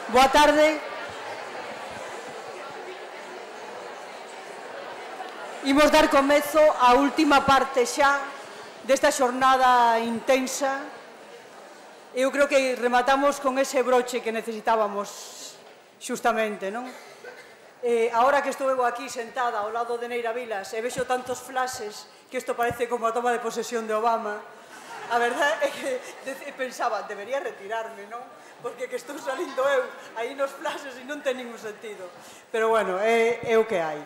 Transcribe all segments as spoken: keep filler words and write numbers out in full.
Boa tarde. Imos dar comezo á última parte xa desta xornada intensa. Eu creo que rematamos con ese broche que necesitábamos xustamente, non? Eh, ahora que estou eu aquí sentada ao lado de Neira Vilas e vexo tantos flashes que isto parece como a toma de posesión de Obama, a verdade é que pensaba, debería retirarme, non? Porque que estou salindo eu aí nos flashes e non ten ningún sentido. Pero bueno, é, é o que hai.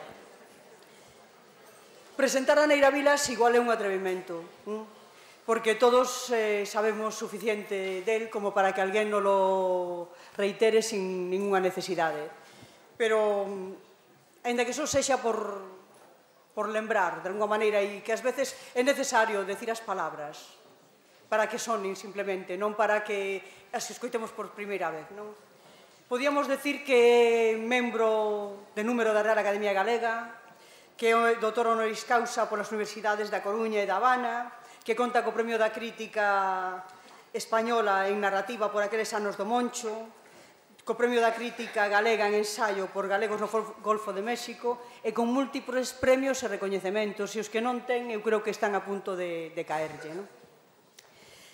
Presentar a Neira Vilas igual é un atrevimento, ¿no? Porque todos eh, sabemos suficiente del como para que alguén non lo reitere sin ninguna necesidade. Pero, ainda que só sexa por, por lembrar, de alguma maneira, e que ás veces é necesario decir as palabras para que sonen simplemente, non para que as escoitemos por primeira vez, non? Podíamos decir que é membro de número da Real Academia Galega, que é doutor honoris causa polas universidades da Coruña e da Habana, que conta co Premio da Crítica Española en narrativa por aqueles anos do Moncho, co Premio da Crítica Galega en ensaio por galegos no Golfo de México e con múltiples premios e recoñecementos, e os que non ten eu creo que están a punto de, de caerlle, non?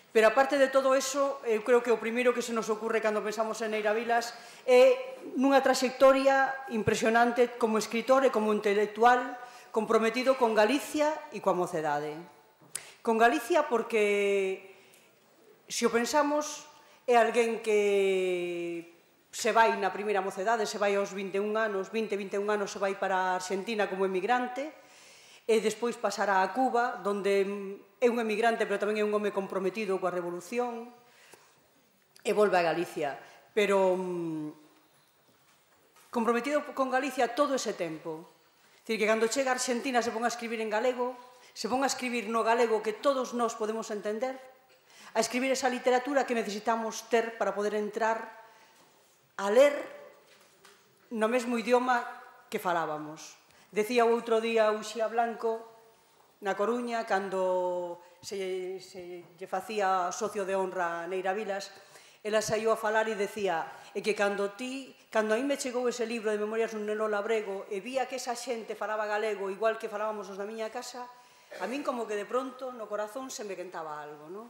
Pero aparte de todo eso, eu creo que o primeiro que se nos ocurre cando pensamos en Neira Vilas é nunha trayectoria impresionante como escritor e como intelectual comprometido con Galicia e coa mocedade. Con Galicia porque, se o pensamos, é alguén que se vai na primeira mocedade, se vai aos vinte e un anos, vinte, vinte e un anos se vai para a Argentina como emigrante, e despois pasará a Cuba, onde é un emigrante, pero tamén é un home comprometido coa revolución, e volve a Galicia. Pero comprometido con Galicia todo ese tempo. É dicir, que cando chega a Argentina se pon a escribir en galego, se pon a escribir no galego que todos nós podemos entender, a escribir esa literatura que necesitamos ter para poder entrar a ler no mesmo idioma que falábamos. Decía o outro día Uxía Blanco, na Coruña, cando se, se lle facía socio de honra a Neira Vilas, ela saiu a falar e decía e que cando ti, cando a mí me chegou ese libro de Memorias dun neno labrego e vía que esa xente falaba galego igual que falábamos os da miña casa, a min como que de pronto no corazón se me quentaba algo, non?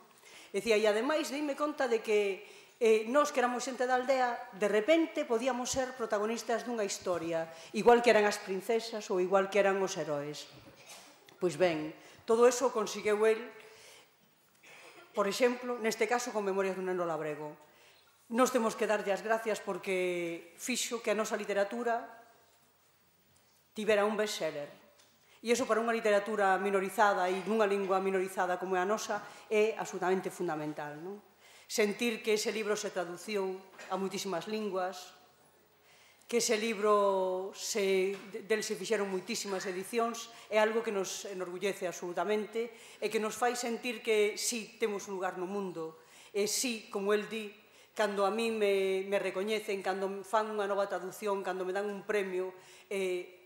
Decía, e ademais deime conta de que eh, nós que éramos xente da aldea, de repente podíamos ser protagonistas dunha historia, igual que eran as princesas ou igual que eran os heróis. Pois ben, todo eso conseguiu el, por exemplo, neste caso con Memorias dun neno labrego. Nos temos que darlle as gracias porque fixo que a nosa literatura tivera un bestseller. E iso para unha literatura minorizada e nunha lingua minorizada como é a nosa é absolutamente fundamental, non? Sentir que ese libro se traduciu a moitísimas linguas, que ese libro se, del se fixeron moitísimas edicións, é algo que nos enorgullece absolutamente e que nos fai sentir que sí temos un lugar no mundo. E sí, como el di, cando a mí me, me recoñecen, cando fan unha nova traducción, cando me dan un premio, eh,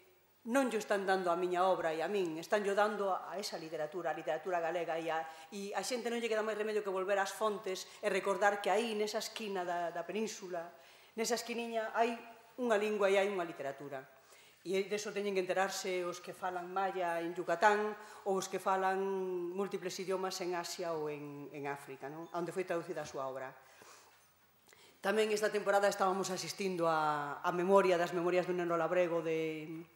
non lle están dando a miña obra e a min, están lle dando a esa literatura, a literatura galega, e a, e a xente non lle queda máis remedio que volver ás fontes e recordar que aí, nesa esquina da, da península, nesa esquiniña, hai unha lingua e hai unha literatura. E deso teñen que enterarse os que falan maya en Yucatán ou os que falan múltiples idiomas en Asia ou en, en África, non? Onde foi traducida a súa obra. Tamén esta temporada estábamos asistindo a, a memoria das Memorias dun neno labrego de...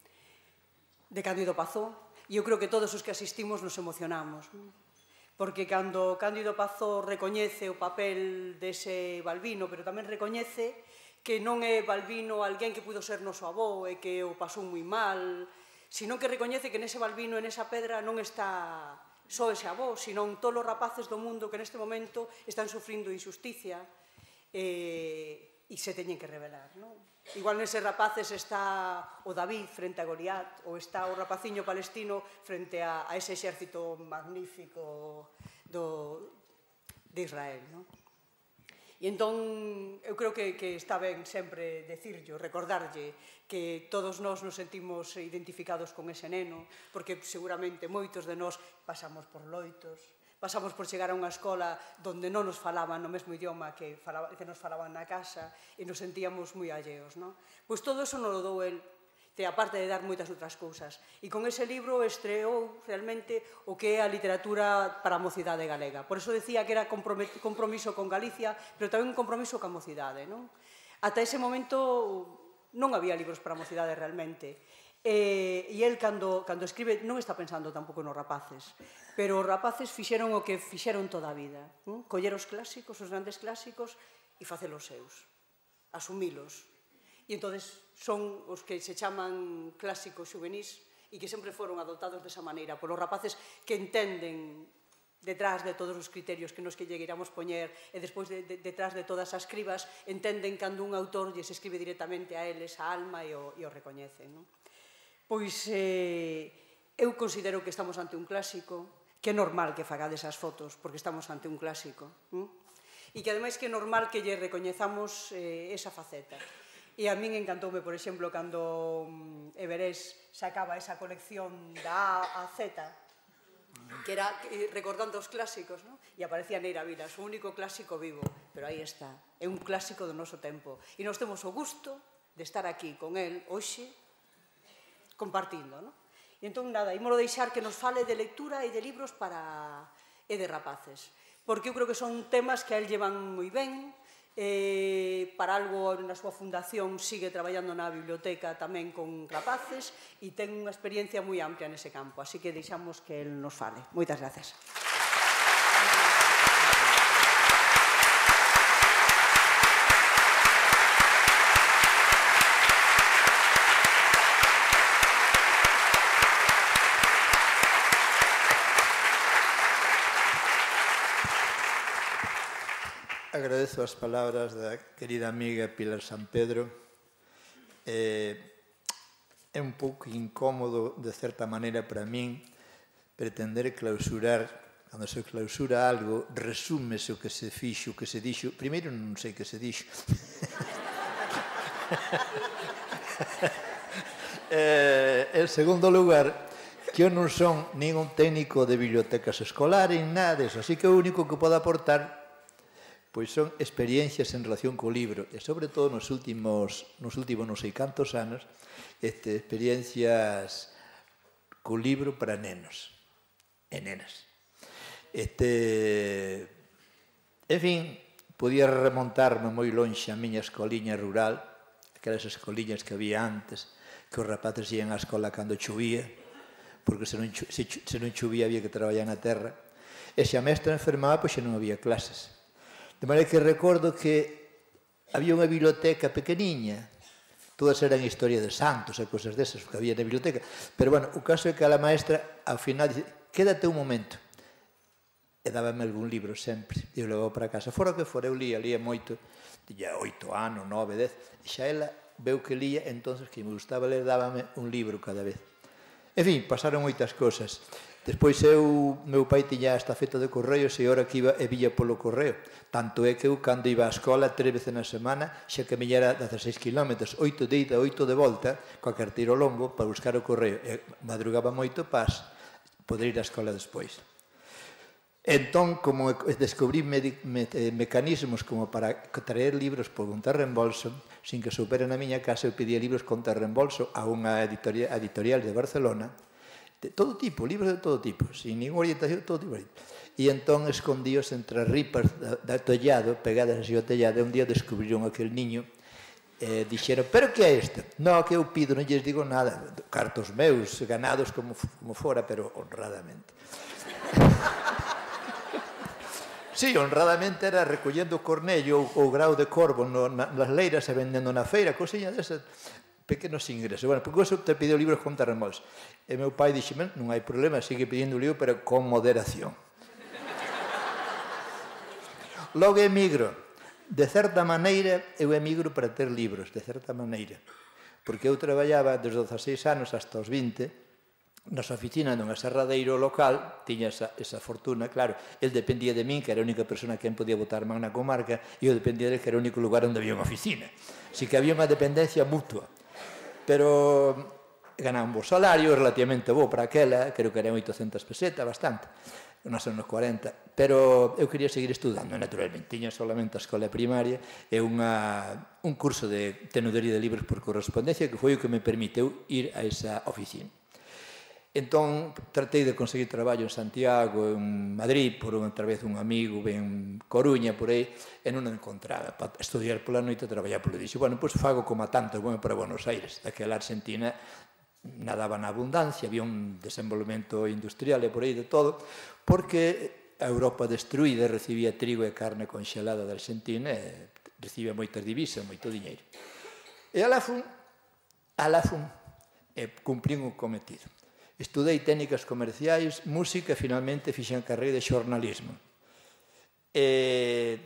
de Cándido Pazó, e eu creo que todos os que asistimos nos emocionamos, porque cando Cándido Pazó recoñece o papel dese Balbino, pero tamén recoñece que non é Balbino alguén que pudo ser noso avó e que o pasou moi mal, sino que recoñece que nese Balbino e nesa pedra non está só ese avó, senón todos os rapaces do mundo que neste momento están sufrindo injusticia e, e se teñen que revelar, non? Igual neses rapaces está o David frente a Goliat, ou está o rapaciño palestino frente a, a ese exército magnífico do, de Israel, non? E entón, eu creo que, que está ben sempre decirlo, recordarlle que todos nós nos sentimos identificados con ese neno, porque seguramente moitos de nós pasamos por loitos, Pasamos por chegar a unha escola onde non nos falaban no mesmo idioma que, falaba, que nos falaban na casa e nos sentíamos moi alleos, non? Pois todo eso nos lo dou el, que aparte de dar moitas outras cousas. E con ese libro estreou realmente o que é a literatura para a mocidade galega. Por eso decía que era compromiso con Galicia, pero tamén un compromiso ca mocidade, non? Ata ese momento non había libros para a mocidade realmente. E, e el, cando, cando escribe, non está pensando tampouco nos rapaces, pero os rapaces fixeron o que fixeron toda a vida, non? Coller os clásicos, os grandes clásicos, e facelos seus, asumilos. E entonces son os que se chaman clásicos xuvenís e que sempre foron adoptados desa maneira, polos rapaces que entenden detrás de todos os criterios que nos que lleguéramos poñer e despois de, de, detrás de todas as cribas entenden cando un autor lles escribe directamente a eles a alma e o, e o recoñecen, non? Pois eh, eu considero que estamos ante un clásico, que é normal que fagades as fotos, porque estamos ante un clásico, hm? E que ademais que é normal que lle recoñezamos eh, esa faceta. E a min encantoume, por exemplo, cando um, Everés sacaba esa colección da A a Z, que era eh, recordando os clásicos, ¿no? E aparecía Neira Vilas, o único clásico vivo, pero aí está, é un clásico do noso tempo. E nós temos o gusto de estar aquí con el hoxe, compartindo, non? E entón, nada, ímolo deixar que nos fale de lectura e de libros para e de rapaces, porque eu creo que son temas que a él llevan moi ben, eh, para algo na súa fundación sigue traballando na biblioteca tamén con rapaces e ten unha experiencia moi amplia nese campo, así que deixamos que él nos fale. Moitas gracias. Agradezo as palabras da querida amiga Pilar San Pedro. É un pouco incómodo, de certa maneira, para min, pretender clausurar, cando se clausura algo, resúmese o que se fixo, o que se dixo. Primeiro, non sei que se dixo. En segundo lugar, que eu non son nin un técnico de bibliotecas escolares, nada deso, así que o único que podo aportar pois son experiencias en relación co libro, e sobre todo nos últimos, nos últimos non sei cantos anos, este, experiencias co libro para nenos e nenas. Este, en fin, podía remontarme moi lonxe a miña escoliña rural, aquelas escoliñas que había antes, que os rapaces ian á escola cando chovía, porque se non, se, se non chovía había que traballar na terra, e se a mestra enfermaba, pois xa non había clases. De maneira que recordo que había unha biblioteca pequeniña, todas eran historia de santos e cosas desas que había na biblioteca, pero, bueno, o caso é que a la maestra, ao final, dice, quédate un momento, e dábame algún libro sempre, e eu levaba para casa, fora que fora, eu lía, lía moito, tiña oito anos, nove, dez, e xa ela veu que lía, entonces que me gustaba ler, dábame un libro cada vez. En fin, pasaron moitas cosas. Despois eu, meu pai tiña a estafeta de correos e ora que iba e vía polo correo. Tanto é que eu, cando iba á escola tres veces na semana, xa camiñara dezaseis kilómetros, oito de ida, oito de volta, coa carteiro longo, para buscar o correo. E madrugaba moito para poder ir á escola despois. Entón, como descubrí mecanismos como para traer libros por conta reembolso, sin que soupera na miña casa, eu pedía libros conta reembolso a unha editorial de Barcelona, de todo tipo, libros de todo tipo, sin ninguna orientación, todo tipo. E entón escondíos entre as ripas do tellado, pegadas así ao tellado, e un día descubriron aquel niño, e dixeron, pero que é isto? Non, que eu pido, non lles digo nada, cartos meus, ganados como, como fora, pero honradamente. Sí, honradamente era recollendo cornello ou grau de corvo no, na, nas leiras e vendendo na feira, cosiña desas, pequenos ingresos. Bueno, porque eso te pediu libros con terremotos. E meu pai dixe, non hai problema, sigue pedindo libro, pero con moderación. Logo emigro. De certa maneira, eu emigro para ter libros, de certa maneira. Porque eu traballaba desde os dezaseis anos hasta os vinte, nas oficinas dun aserradeiro local, tiña esa, esa fortuna, claro, el dependía de min, que era a única persona que podía botar man na comarca, e eu dependía de que era o único lugar onde había unha oficina. Así que había unha dependencia mutua. Pero ganaba un bo salario, relativamente bo para aquela, creo que eran oitocentas pesetas, bastante. nos anos cuarenta, pero eu quería seguir estudando, naturalmente. Tiña solamente a escola primaria e unha, un curso de tenudería de libros por correspondencia que foi o que me permiteu ir a esa oficina. Entón, tratei de conseguir traballo en Santiago, en Madrid, por outra vez un amigo, en Coruña, por aí, e non o encontraba. Para estudiar pola noite e traballar polo dixo. Bueno, pois fago como a tanto, bueno, para Buenos Aires. Daquela Argentina nadaba na abundancia, había un desenvolvemento industrial e por aí de todo, porque a Europa destruída recibía trigo e carne conxelada da Argentina e recibía moitas divisas, moito diñeiro. E alá fun, alá fun, e cumplín o cometido. Estudei técnicas comerciais, música e finalmente fixen a carreira de xornalismo. E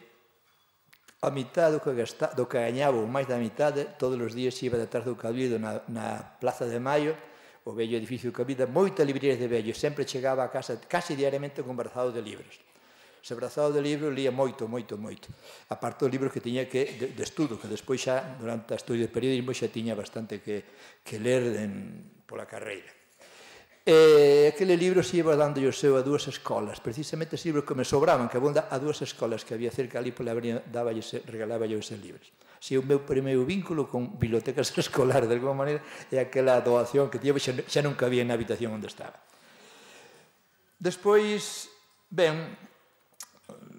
a mitad do que, gasta, do que gañaba, ou máis da mitade, todos os días iba detrás do Cabildo na, na Plaza de Maio, o vello edificio do Cabildo, moitas librerías de vellos, sempre chegaba a casa casi diariamente con brazado de libros. Se brazado de libros lía moito, moito, moito. Aparte dos libros que tiña que, de, de estudo, que despois xa, durante o estudio de periodismo, xa tiña bastante que, que ler en, pola carreira. E aquele libro se iba dando o seu a dúas escolas, precisamente ese libro que me sobraban, que abunda a dúas escolas que había cerca ali pola avenida, regalaba eu eses libros. Si o meu primeiro vínculo con bibliotecas escolares, de alguma maneira, é aquela doación que tiña, xa, xa non cabía na habitación onde estaba. Despois, ben,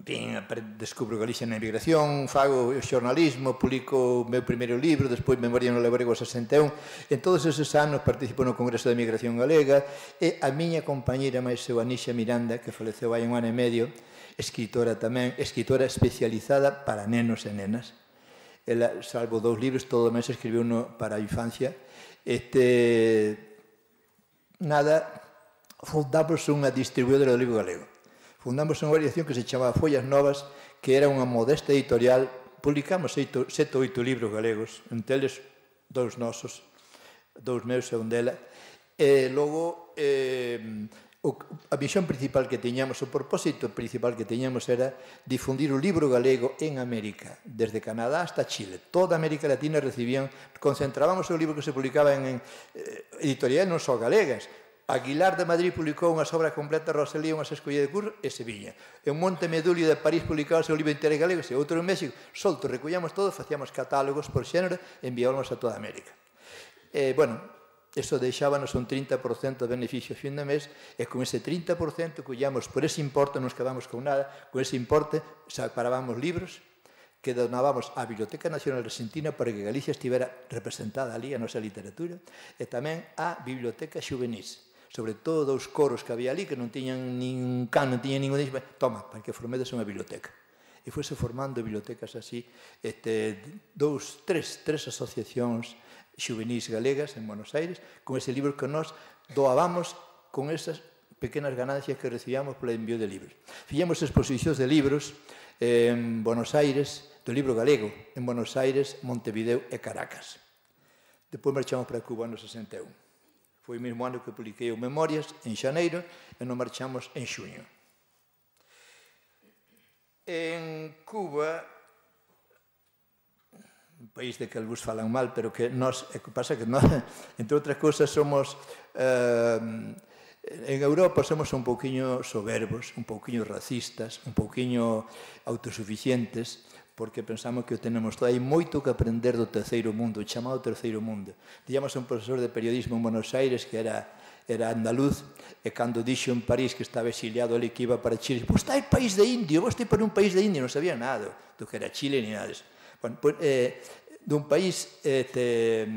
Vin, descubro Galicia na emigración, fago o xornalismo, publico o meu primeiro libro, despois Memoria no Labrego sesenta e un. En todos eses anos participo no Congreso de Emigración Galega e a miña compañeira máis seu, Anisha Miranda, que faleceu hai un ano e medio, escritora tamén, escritora especializada para nenos e nenas. Ela, salvo dous libros, todo o mes escribiu uno para a infancia. Este, nada, fundamos unha distribuidora do libro galego. Fundamos unha variación que se chamaba Follas Novas, que era unha modesta editorial. Publicamos sete ou oito libros galegos, entre eles dous nosos, dous meus e un dela. E logo, eh, o, a visión principal que teñamos, o propósito principal que teñamos era difundir o libro galego en América, desde Canadá hasta Chile. Toda América Latina recibían, concentrábamos o libro que se publicaba en, en eh, editoriais non só galegas. Aguilar de Madrid publicou unha obra completa, Rosalía, unhas escollas de curso, e Sevilla. En Montemedulio de París publicaba o seu libro Interés Galegos, e outro en México. Solto, recollamos todo, facíamos catálogos por xénero e enviábamos a toda América. E, bueno, eso deixábanos un trinta por cento de beneficio a fin de mes, e con ese trinta por cento collamos por ese importe, non nos quedamos con nada, con ese importe separábamos libros que donábamos á Biblioteca Nacional Argentina para que Galicia estivera representada ali, a nosa literatura, e tamén á Biblioteca Xuvenís. Sobre todo dos coros que había ali, que non tiñan nin can, non tiñan ningún... Toma, para que formedes unha biblioteca. E foise formando bibliotecas así, este, dous, tres, tres asociacións xuvenís galegas en Buenos Aires, con ese libro que nós doábamos con esas pequenas ganancias que recibíamos polo envío de libros. Fixemos exposicións de libros en Buenos Aires, do libro galego, en Buenos Aires, Montevideo e Caracas. Depois marchamos para Cuba no sesenta e un. Foi o mesmo ano que publiquei o Memorias, en xaneiro, e nos marchamos en xuño. En Cuba, un país de que algúns falan mal, pero que nós, é que pasa que nós, entre outras cousas, somos, eh, en Europa somos un pouquiño soberbos, un pouquiño racistas, un pouquiño autosuficientes, porque pensamos que o tenemos todo. Hai moito que aprender do terceiro mundo, o chamado terceiro mundo. Díamos a un profesor de periodismo en Buenos Aires que era, era andaluz, e cando dixo en París que estaba exiliado ali, que iba para Chile, pois está en país de indio, vos estáis para un país de indio, non sabía nada do que era Chile ni nada disso. Bueno, pues, eh, dun país este,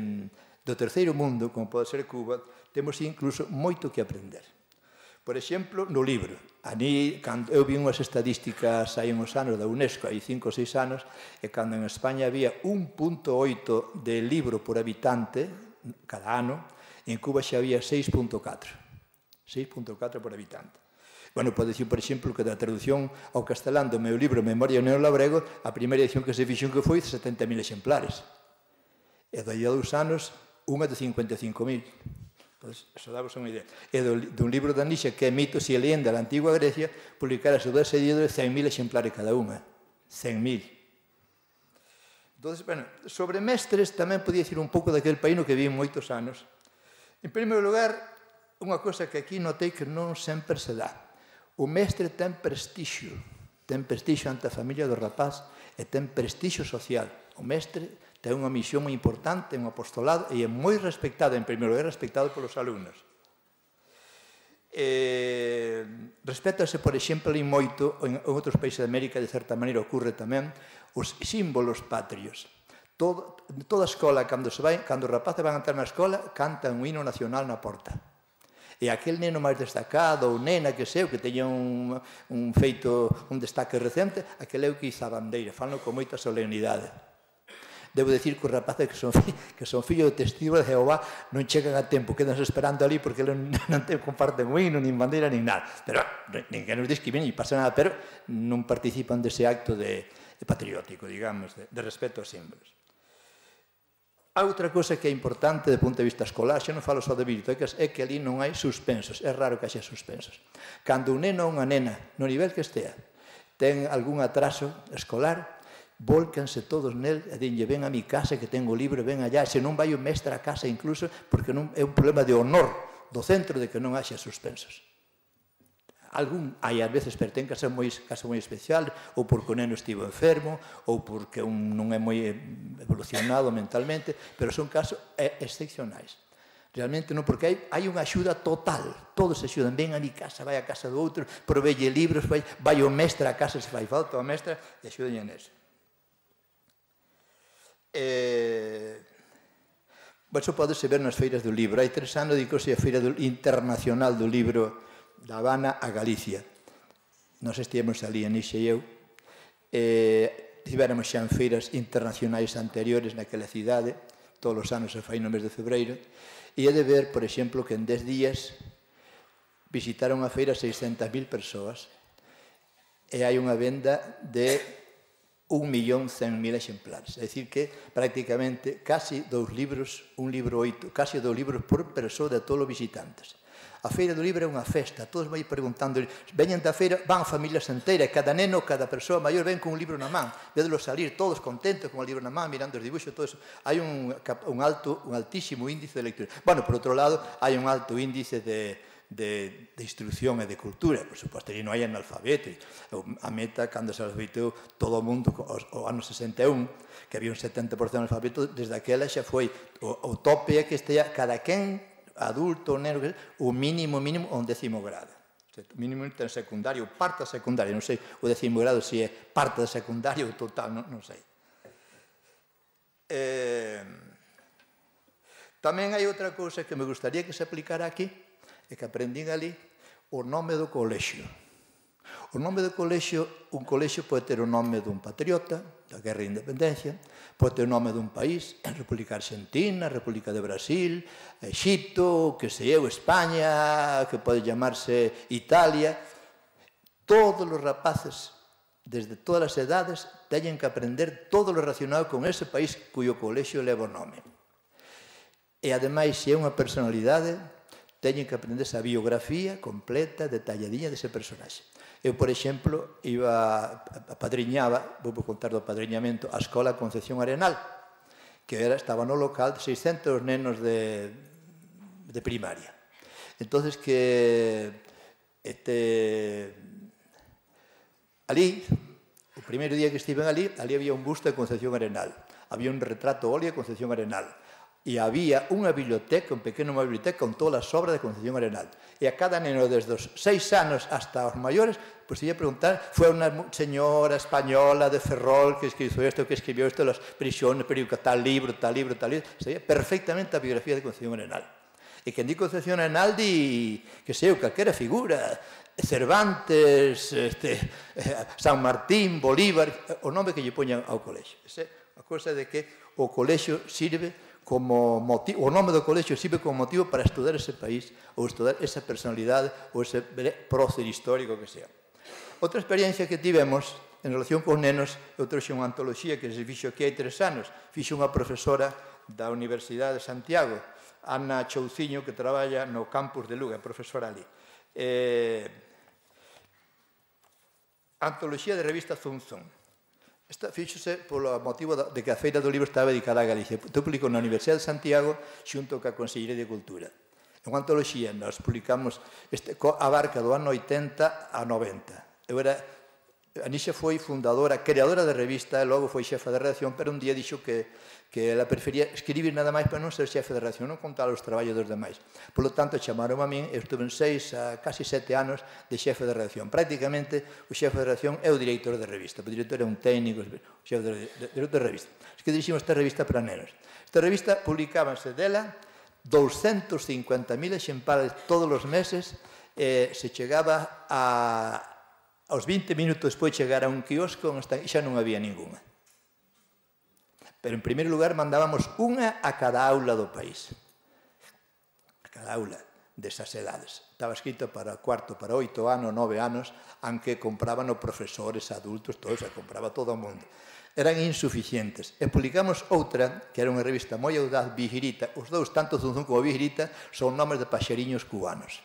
do terceiro mundo, como pode ser Cuba, temos incluso moito que aprender. Por exemplo, no libro. Ani, cando eu vi unhas estadísticas hai uns anos da UNESCO, hai cinco ou seis anos, e cando en España había un punto oito de libro por habitante cada ano, en Cuba xa había seis punto catro. seis punto catro por habitante. Bueno, pode dicir, por exemplo, que da traducción ao castelán do meu libro Memoria no Labrego, a primeira edición que se fixo que foi setenta mil exemplares. E daí a dous anos, unha de cincuenta e cinco mil. Eso damos unha idea. E dun libro de Anisha, que é Mitos e Leyenda da Antigua Grecia, publicara a súa editores cen mil exemplares cada unha. cen mil. Entón, bueno, sobre mestres tamén podía dicir un pouco daquele país no que viví moitos anos. En primeiro lugar, unha cosa que aquí notei que non sempre se dá. O mestre ten prestixio, ten prestixio ante a familia do rapaz e ten prestixio social. O mestre ten unha misión moi importante, un apostolado, e é moi respectado, en primeiro lugar, respectado polos alumnos. Eh, respétase, por exemplo, ali moito, en outros países de América, de certa maneira, ocurre tamén, os símbolos patrios. Todo, toda a escola, cando, se vai, cando os rapaces van a entrar na escola, cantan un hino nacional na porta. E aquel neno máis destacado, ou nena que seu, que teña un, un feito, un destaque recente, aquel é o que iza a bandeira, fanlo con moita solemnidade. Debo dicir que os rapaces que son, que son fillos de testigo de Jehová non chegan a tempo, quedanse esperando ali porque non, non te comparten o hino, nin bandeira, nin nada. Pero ninguén nos discrimina, nin pasa nada, pero non participan dese acto de, de patriótico, digamos, de, de respeto aos símbolos. A outra cosa que é importante do punto de vista escolar, xa non falo só de bibliotecas, é que ali non hai suspensos, é raro que haxa suspensos. Cando un neno ou unha nena, no nivel que estea, ten algún atraso escolar, volcanse todos nel e dinlle, ven a mi casa que tengo libro, ven allá, se non vai o mestre a casa incluso, porque non é un problema de honor do centro de que non haxa suspensos. Algún, hai ás veces, pero ten que ser moi, caso moi especial, ou porque o neno estivo enfermo, ou porque un non é moi evolucionado mentalmente, pero son casos excepcionais. Realmente non, porque hai, hai unha axuda total, todos se axudan, ven a mi casa, vai a casa do outro, provelle libros, vai, vai o mestre a casa, se fai falta o mestre, e axudan en eso. Eh, Iso podese ver nas feiras do libro. Hai tres anos dicose a Feira Internacional do Libro da Habana a Galicia. Nos estivemos ali, Anixa e eu. Eh, tivéramos xa en feiras internacionais anteriores naquela cidade, todos os anos se fai no mes de febreiro, e é de ver, por exemplo, que en dez días visitaron a feira seiscentas mil persoas e hai unha venda de un millón cen mil exemplares. É dicir que prácticamente casi dous libros, un libro oito, casi dous libros por persoa de todos os visitantes. A Feira do Libro é unha festa, todos vai preguntando, veñen da feira, van familias enteiras, cada neno, cada persoa maior ven con un libro na man, vedelo salir, todos contentos con o libro na man, mirando os dibuixos, todo eso. Hai un, un, alto, un altísimo índice de lectura. Bueno, por outro lado, hai un alto índice de, de, de instrucción e de cultura, por suposto, e non hai analfabeto. A meta, cando se alfabetou todo o mundo, o ano sesenta e un, que había un setenta por cento de analfabeto, desde aquela xa foi, o, o tope é que estea cada quen, adulto, neno, o mínimo, mínimo, o un décimo grado. O mínimo ten secundario, parte da secundaria, non sei o décimo grado se é parte da secundaria ou total, non, non sei. Eh, tamén hai outra cousa que me gustaría que se aplicara aquí, e que aprendín ali, o nome do colexio. O nome do colexio, un colexio pode ter o nome dun patriota, da Guerra de Independencia, pode ter o nome dun país, a República Argentina, a República de Brasil, Egipto, que sei eu, España, que pode llamarse Italia. Todos os rapaces, desde todas as edades, teñen que aprender todo o relacionado con ese país cuyo colexio leva o nome. E, ademais, se é unha personalidade, teñen que aprender esa biografía completa, detalladinha dese personaxe. Eu, por exemplo, iba, apadriñaba, vou contar do apadriñamento, a Escola Concepción Arenal, que era, estaba no local de seiscentos nenos de, de primaria. Entonces que este, ali, o primeiro día que estiven ali, ali había un busto de Concepción Arenal, había un retrato óleo de Concepción Arenal, e había unha biblioteca, un pequeno unha biblioteca con todas as obras de Concepción Arenal. E a cada neno desde os seis anos hasta os maiores, pois ia preguntar, foi unha señora española de Ferrol que escribiu isto, que escribiu isto, las prisiones, periódico, tal libro, tal libro, tal libro, sabía perfectamente a biografía de Concepción Arenal. E quen di Concepción Arenal di, que sei, calquera figura, Cervantes, este, San Martín, Bolívar, o nome que lle poñan ao colexio. Esa é a cousa de que o colexio sirve como motivo, o nome do colexio sirve como motivo para estudar ese país ou estudar esa personalidade ou ese prócer histórico que sea. Outra experiencia que tivemos en relación con nenos, eu trouxe unha antoloxía que se fixo aquí hai tres anos, fixo unha profesora da Universidade de Santiago, Ana Chouciño, que traballa no campus de Lugo, é profesora ali. Eh, antoloxía de revista Zunzun. Esta fíxose polo motivo de que a Feira do Libro estaba dedicada a Galicia. Publicou na Universidade de Santiago xunto ca Consellería de Cultura. Unha antoloxía, nós publicamos, este, abarca do ano oitenta a noventa. Eu era, a Nixa foi fundadora, creadora da revista, e logo foi xefa de redacción, pero un día dixo que, que ela prefería escribir nada máis para non ser xefe de redacción, non contar os traballos dos demais. Por lo tanto, chamaron a min, eu estuve en seis a casi sete anos de xefe de redacción. Prácticamente, o xefe de redacción é o director de revista. O director é un técnico, o xefe de, de, director de revista. Es que diriximos esta revista para nenos. Esta revista publicábase dela doscientos cincuenta mil exemplares todos os meses, eh, se chegaba a, aos vinte minutos despois de chegar a un quiosco e xa non había ninguna. Pero, en primeiro lugar, mandábamos unha a cada aula do país. A cada aula desas edades. Estaba escrito para cuarto, para oito anos, nove anos, aunque compraban os profesores, adultos, todos, se compraba todo o mundo. Eran insuficientes. E publicamos outra, que era unha revista moi audaz, Vigirita. Os dous, tanto Zunzún como Vigirita, son nomes de paxariños cubanos.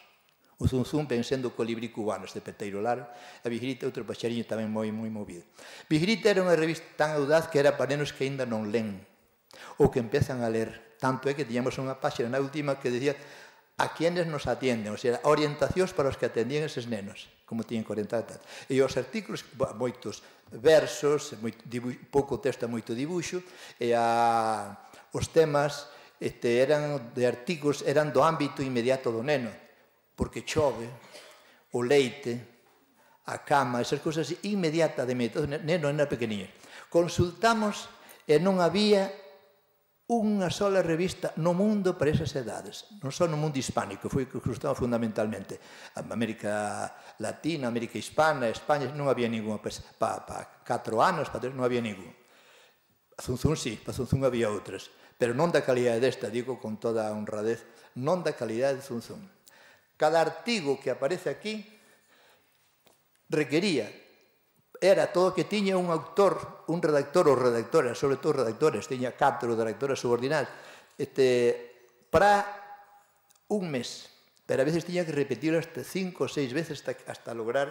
O Zunzún ven sendo o colibrí cubano, este peteiro largo. A Vigirita, outro paxariño tamén moi, moi movido. Vigirita era unha revista tan audaz que era para nenos que ainda non len, ou que empezan a ler. Tanto é que tiñamos unha páxina na última que decía a quienes nos atienden, ou sea, orientacións para os que atendían eses nenos, como tiñen que orientar. E os artículos, moitos versos, pouco texto e moito dibuixo, e a, os temas este, eran de artigos, eran do ámbito inmediato do neno, porque chove, o leite, a cama, esas cousas inmediatas de medio, o neno era pequeniño. Consultamos e non había unha sola revista no mundo para esas edades, non só no mundo hispánico, foi que cruzaba fundamentalmente. América Latina, América Hispana, España, non había ninguna, para pa catro anos, para tres, non había ninguna. A Zunzún sí, para Zunzún había outras, pero non da calidade desta, digo con toda a honradez, non da calidade de Zunzún. Cada artigo que aparece aquí requería, era todo que tiña un autor, un redactor ou redactoras, sobre todo redactores, tiña catro redactoras subordinadas, este, para un mes. Pero a veces tiña que repetir hasta cinco ou seis veces hasta, hasta lograr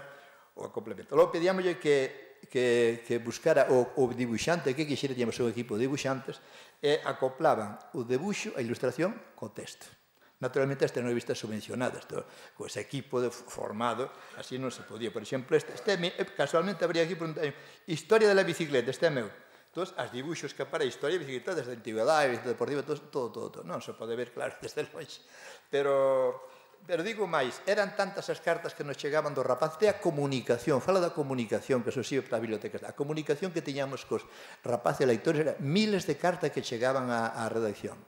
o complemento. Logo pedíamoslle que, que, que buscara o, o dibuixante, que quixera, tiñamos un equipo de dibuixantes, e acoplaban o debuxo, a ilustración, co texto. Naturalmente, estas non revistas subvencionadas, con ese equipo formado, así non se podía. Por exemplo, este, este casualmente habría aquí Historia de la bicicleta, este é meu. Entón, as dibuxos que para a historia de bicicleta, desde a antigüedade, desde a deportiva, todo, todo, todo. Non se pode ver, claro, desde longe. Pero, pero digo máis, eran tantas as cartas que nos chegaban do rapaz, de a comunicación, fala da comunicación, que eso sí para a biblioteca, a comunicación que tiñamos cos rapaces e leitores, era miles de cartas que chegaban á redacción.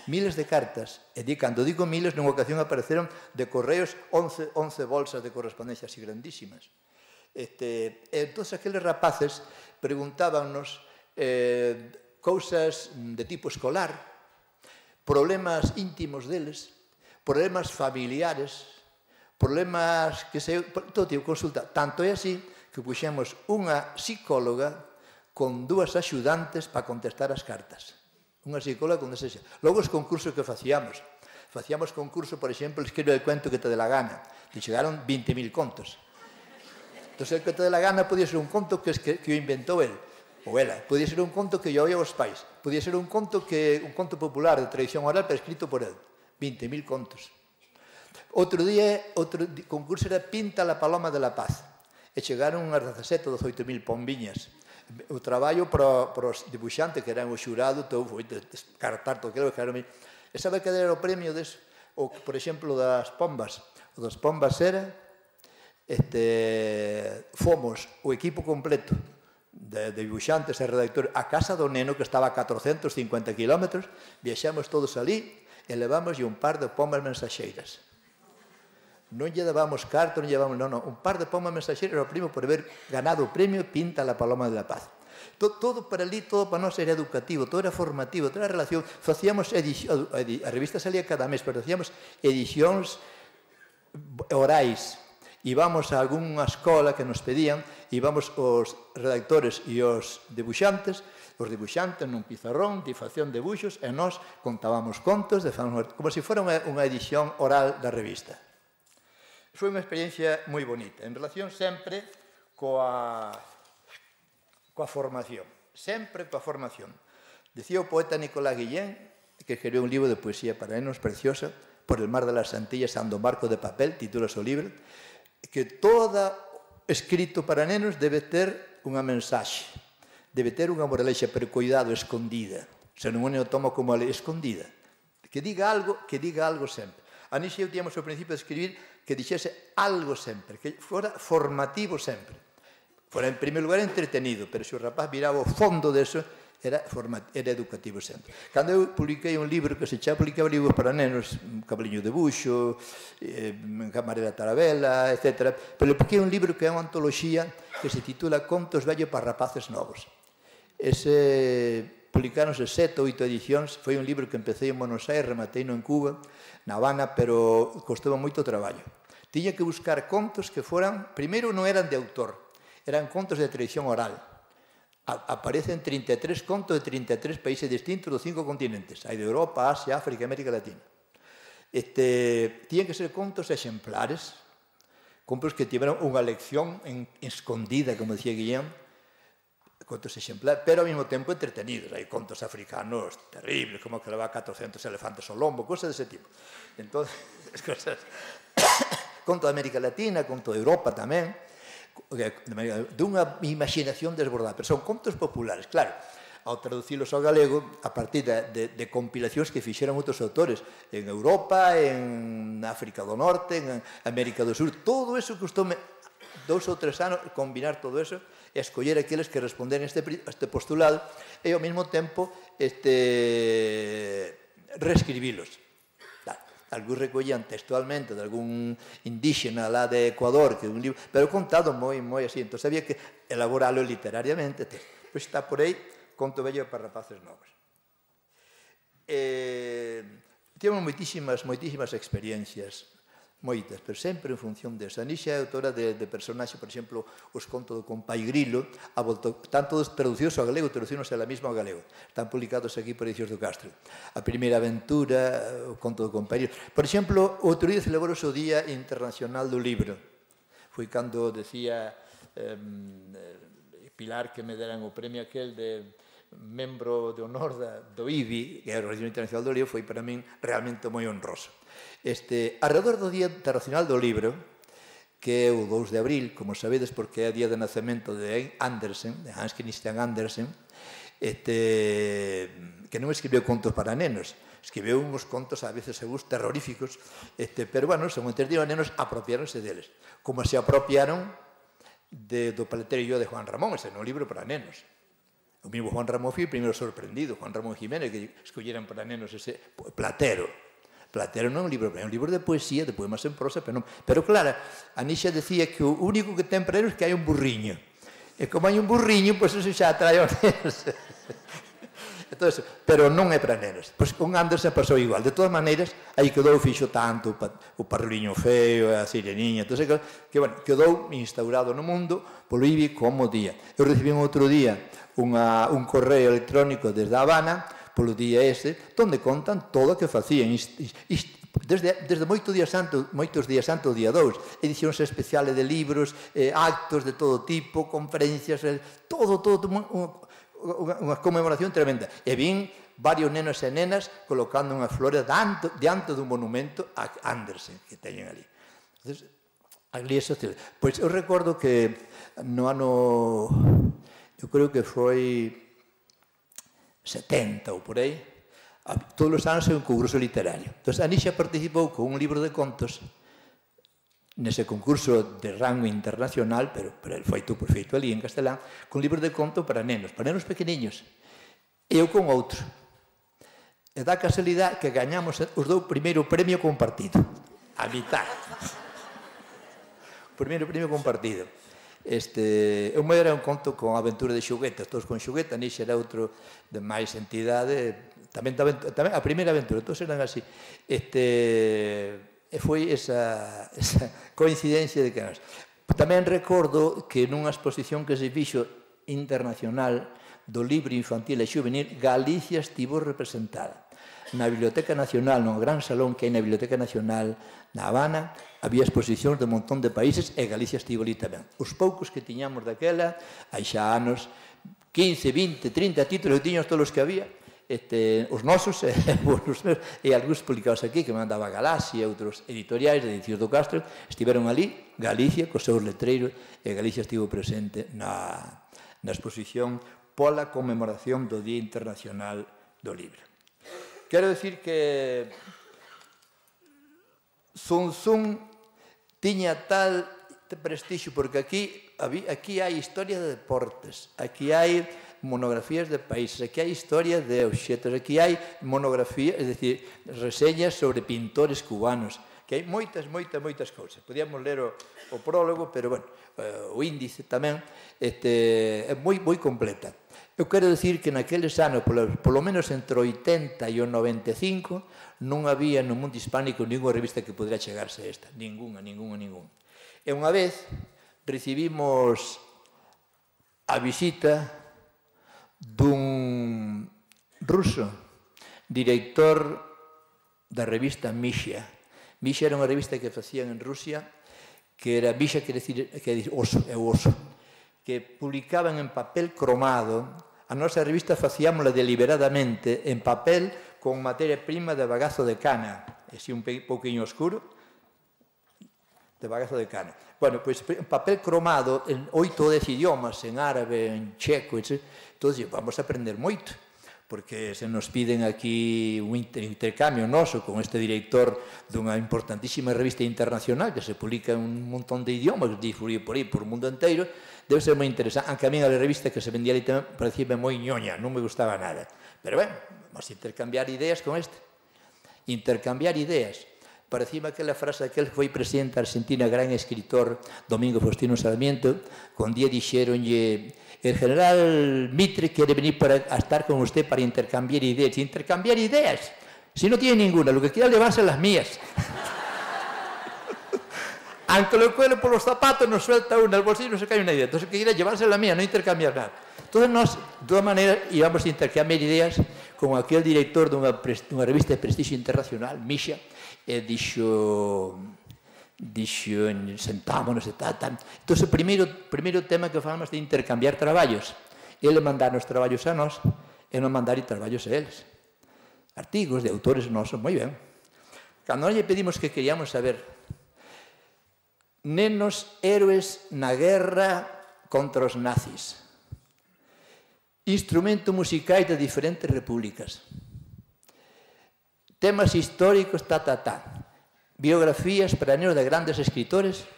Miles de cartas, e di, cando digo miles, nunha ocasión apareceron de correos once, once bolsas de correspondencia así grandísimas. Este, e todos aqueles rapaces preguntábanos eh, cousas de tipo escolar, problemas íntimos deles, problemas familiares, problemas que se... todo tipo, consulta. Tanto é así que puxemos unha psicóloga con dúas axudantes para contestar as cartas. Unha psicóloga con desexa. Logo os concursos que facíamos. Facíamos concurso, por exemplo, escribe el cuento que te dé la gana. E chegaron vinte mil contos. Entón, el que te dé la gana podía ser un conto que, que, que o inventou el, ou ela. Podía ser un conto que lle oía aos pais. Podía ser un conto que un conto popular de tradición oral, pero escrito por el. vinte mil contos. Outro día, outro concurso era Pinta la paloma de la paz. E chegaron unhas dezasete ou dezoito mil pombiñas. O traballo para, para os dibuixantes, que eran o xurado, todo foi descartar todo aquilo, que era... E sabe que era o premio des, o, por exemplo, das pombas? O das pombas era, este, fomos o equipo completo de, de dibuixantes e redactores a casa do neno, que estaba a catrocentos cincuenta kilómetros, viaxamos todos ali e levamos un par de pombas mensaxeiras. Non lle dábamos carta, non lle dábamos... Non, non, un par de pombas mensaxeiras era o primo por haber ganado o premio Pinta la paloma de la paz. Todo, todo para ali, todo para nós era educativo, todo era formativo, toda a relación. Facíamos edición, a revista salía cada mes, pero facíamos edicións orais. Íbamos a algunha escola que nos pedían, íbamos os redactores e os dibuixantes, os dibuixantes nun pizarrón, de facción de debuxos, e nós contábamos contos, de, como se fora unha, unha edición oral da revista. Foi unha experiencia moi bonita, en relación sempre coa, coa formación, sempre coa formación. Decía o poeta Nicolás Guillén, que escribiu un libro de poesía para nenos preciosa, por el mar de las Antillas ando barco de papel, titula o libro, que todo escrito para nenos debe ter unha mensaxe, debe ter unha moralexa, pero cuidado, escondida. Se non o toma como a lei, escondida. Que diga algo, que diga algo sempre. A Nietzsche eu tíamos ao principio de escribir que dixese algo sempre, que fora formativo sempre. Fora, en primeiro lugar, entretenido, pero se o rapaz viraba o fondo deso, era, era educativo sempre. Cando eu publiquei un libro que se xa publicaba libros para nenos, un Cabaliño de Buxo, eh, Camarera Tarabela, etcétera, pero publiquei un libro que é unha antoloxía que se titula Contos vellos para rapaces novos. Ese publicáronse sete ou oito edicións, foi un libro que empecé en Buenos Aires, rematei no en Cuba, na Habana, pero costou moito traballo. Tiña que buscar contos que foran, primeiro non eran de autor, eran contos de tradición oral. Aparecen trinta e tres contos de trinta e tres países distintos dos cinco continentes. Hai de Europa, Asia, África e América Latina. Este, tiñen que ser contos exemplares, contos que tiveron unha lección en, escondida, como decía Guillén, contos exemplares, pero ao mesmo tempo entretenidos. Hai contos africanos terribles, como que leva catrocentos elefantes ao lombo, cosas dese tipo. Entón, cosas... conto de América Latina, conto de Europa tamén, dunha imaginación desbordada, pero son contos populares, claro, ao traducilos ao galego a partir de, de, de compilacións que fixeron outros autores en Europa, en África do Norte, en América do Sur, todo eso costoume dous ou tres anos combinar todo eso e escoller aqueles que responden a este, este postulado e ao mesmo tempo este, reescribilos. Algúns recollían textualmente de algún indígena lá de Ecuador, que é un libro, pero contado moi, moi así, entón había que elaboralo literariamente. Pois está por aí, Conto vello para rapaces novos. Eh, temos moitísimas, moitísimas experiencias, moitas, pero sempre en función de esa. Nietzsche é autora de, de personaxe, por exemplo, os contos do Compai Grilo, a volto, están todos traducidos ao galego, traducidos a la misma ao galego. Están publicados aquí por Edicións do Castro. A primeira aventura, o conto do Compai Grilo. Por exemplo, outro día celebrou o Día Internacional do Libro. Foi cando decía eh, Pilar que me deran o premio aquel de membro de honor da, do I B I, que é a Organización Internacional do Libro, foi para min realmente moi honroso. Este, alrededor do Día Internacional do Libro, que é o dous de abril, como sabedes, porque é o día de nacemento de Andersen, de Hans Christian Andersen, este, que non escribiu contos para nenos, escribiu uns contos a veces según terroríficos, este, pero, bueno, según entendido, nenos apropiáronse deles, como se apropiaron de, do Paleteiro de Juan Ramón, ese non libro para nenos. O mismo Juan Ramón foi o primeiro sorprendido, Juan Ramón Jiménez, que escolleran para nenos ese Platero. Platero non é un libro, é un libro de poesía, de poemas en prosa, pero non. Pero claro, a Nietzsche decía que o único que ten para nenos é que hai un burriño. E como hai un burriño, pois eso xa atrae aos nenos. Entonces, pero non é para nenos. Pois con Andersen pasou igual. De todas maneiras, aí quedou fixo tanto o Parruliño Feo, a Sireniña, entonces, que, bueno, quedou instaurado no mundo polo I B I como día. Eu recibí outro día unha, un correo electrónico desde A Habana, polo día ese, onde contan todo o que facían. Desde, desde moitos días antes, moitos días antes, o día dous, edicións especiales de libros, eh, actos de todo tipo, conferencias, eh, todo, todo, unha, unha conmemoración tremenda. E vin varios nenos e nenas colocando unha flores diante, diante dun monumento a Andersen que teñen ali. Entonces, ali é social. Pois eu recordo que no ano, eu creo que foi setenta ou por aí, todos os anos é un concurso literario. Entón, a Nietzsche participou con un libro de contos nese concurso de rango internacional, pero, pero el feito, por feito ali en castelán, con libros de conto para nenos, para nenos pequeniños. E eu con outro. E dá casualidade que gañamos os dous primeiro premio compartido. A mitad. O primeiro premio compartido. Este, o meu era un conto con aventura de xoguetas, todos con xogueta, Nietzsche era outro de máis entidade, tamén, tamén, tamén a primeira aventura, todos eran así. Este, e foi esa, esa coincidencia de que nos... Tamén recordo que nunha exposición que se fixo internacional do libro infantil e xuvenil, Galicia estivo representada. Na Biblioteca Nacional, no gran salón que hai na Biblioteca Nacional na Habana, había exposicións de un montón de países e Galicia estivo ali tamén. Os poucos que tiñamos daquela, hai xa anos, quince, vinte, trinta títulos que tiñamos todos os que había, este, os nosos e, e algúns publicados aquí, que mandaba Galaxia, outros editoriais de Edicións do Castro, estiveron ali, Galicia, cos seus letreiros, e Galicia estivo presente na, na exposición pola conmemoración do Día Internacional do Libro. Quero dicir que Sun Tzu tiña tal prestixio, porque aquí, aquí hai historia de deportes, aquí hai monografías de países, aquí hai historia de obxetos, aquí hai monografías, é dicir, reseñas sobre pintores cubanos, que hai moitas, moitas, moitas cousas. Podíamos ler o, o prólogo, pero, bueno, o índice tamén este, é moi, moi completa. Eu quero dicir que naqueles anos, polo, polo menos entre o oitenta e o noventa e cinco, non había no mundo hispánico ninguna revista que podría chegarse a esta. Ninguna, ninguna, ninguna. E unha vez recibimos a visita dun ruso, director da revista Misha. Misha era unha revista que facían en Rusia, que era Misha, que decir, que decir oso, é o oso, que publicaban en papel cromado. A nosa revista facíamosla deliberadamente en papel con materia prima de bagazo de cana, así un pouquinho oscuro, de bagazo de cana. Bueno, pois en papel cromado, en oito ou dez idiomas, en árabe, en checo, etcétera. Entón, vamos a aprender moito, porque se nos piden aquí un intercambio noso con este director dunha importantísima revista internacional que se publica en un montón de idiomas, difundido por aí, por o mundo inteiro, debe ser moi interesante. Aunque a mí a revista que se vendía ali tamén parecía moi ñoña, non me gustaba nada. Pero, bueno, vamos a intercambiar ideas con este. Intercambiar ideas. Parecíame aquela frase daquel que foi presidente da Argentina, gran escritor, Domingo Faustino Sarmiento, con día dixeronlle: el general Mitre quere venir para a estar con usted para intercambiar ideas. Intercambiar ideas, si no tiene ninguna, lo que quiera llevarse las mías. Aunque lo cuelo por los zapatos, nos suelta una, el bolsillo no se cae una idea. Entonces, que quiera llevarse la mía, no intercambiar nada. Entonces, nos, de todas maneras, íbamos a intercambiar ideas con aquel director dunha, dunha revista de prestigio internacional, Misha, e dixo, dixo, sentámonos e tal, tal. Entón, o primeiro, primeiro tema que falamos de intercambiar traballos. Ele mandar os traballos a nós e non mandar traballos a eles. Artigos de autores nosos, moi ben. Cando nós lle pedimos que queríamos saber nenos héroes na guerra contra os nazis, instrumento musicais de diferentes repúblicas, temas históricos, ta, ta, ta, biografías para nenos de grandes escritores,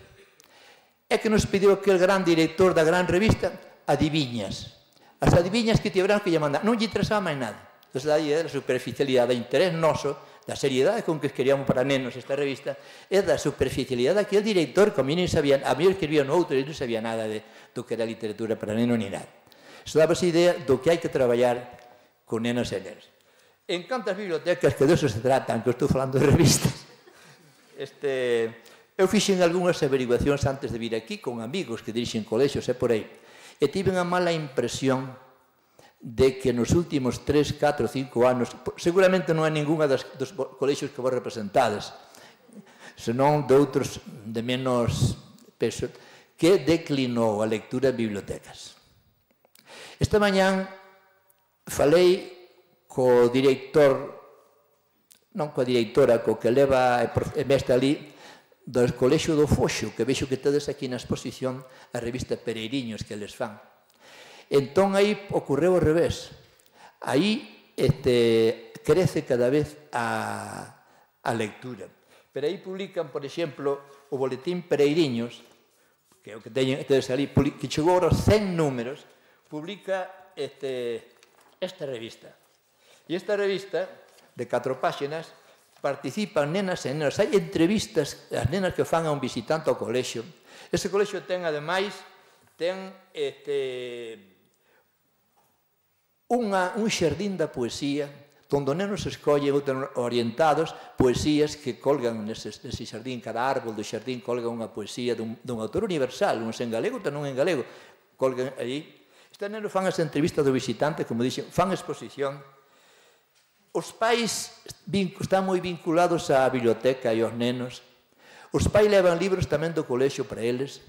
é que nos pediu aquel gran director da gran revista adiviñas. As adiviñas que tiveran que lle mandar, non lle interesaba máis nada. Entón, a idea da superficialidade, da interés noso, da seriedade con que queríamos para nenos esta revista, e da superficialidade daquele director, que a mí non sabía, a mí escribía no outro, e non sabía nada de, do que era literatura para nenos ni nada. Iso daba esa idea do que hai que traballar con nenos e nenas. En cantas bibliotecas, que de eso se tratan, que estou falando de revistas, este, eu fixen algunhas averiguacións antes de vir aquí con amigos que dirixen colexios e por aí, e tive unha mala impresión de que nos últimos tres, catro, cinco anos, seguramente non é ninguna das, dos colexios que vos representades, senón de outros de menos peso, que declinou a lectura en bibliotecas. Esta mañán falei co director, non coa directora, co que leva e mestre ali do colexio do Foxo, que vexo que tedes aquí na exposición a revista Pereiriños que les fan. Entón, aí ocorreu ao revés. Aí este, crece cada vez a, a lectura. Pero aí publican, por exemplo, o boletín Pereiriños, que é o que teñen, tedes ali, que chegou aos cen números, publica este, esta revista. E esta revista, de catro páxinas, participan nenas e nenas. Hai entrevistas as nenas que fan a un visitante ao colexio. Ese colexio ten, ademais, ten este, unha, un xardín da poesía, onde os nenos escollen orientados poesías que colgan nese, nese xardín. Cada árbol do xardín colga unha poesía dun, dun autor universal, uns en galego, outros non en galego. Colgan aí. Estes nenos fan as entrevistas do visitante, como dixen, fan exposición. Os pais están moi vinculados á biblioteca e aos nenos. Os pais levan libros tamén do colexio para eles.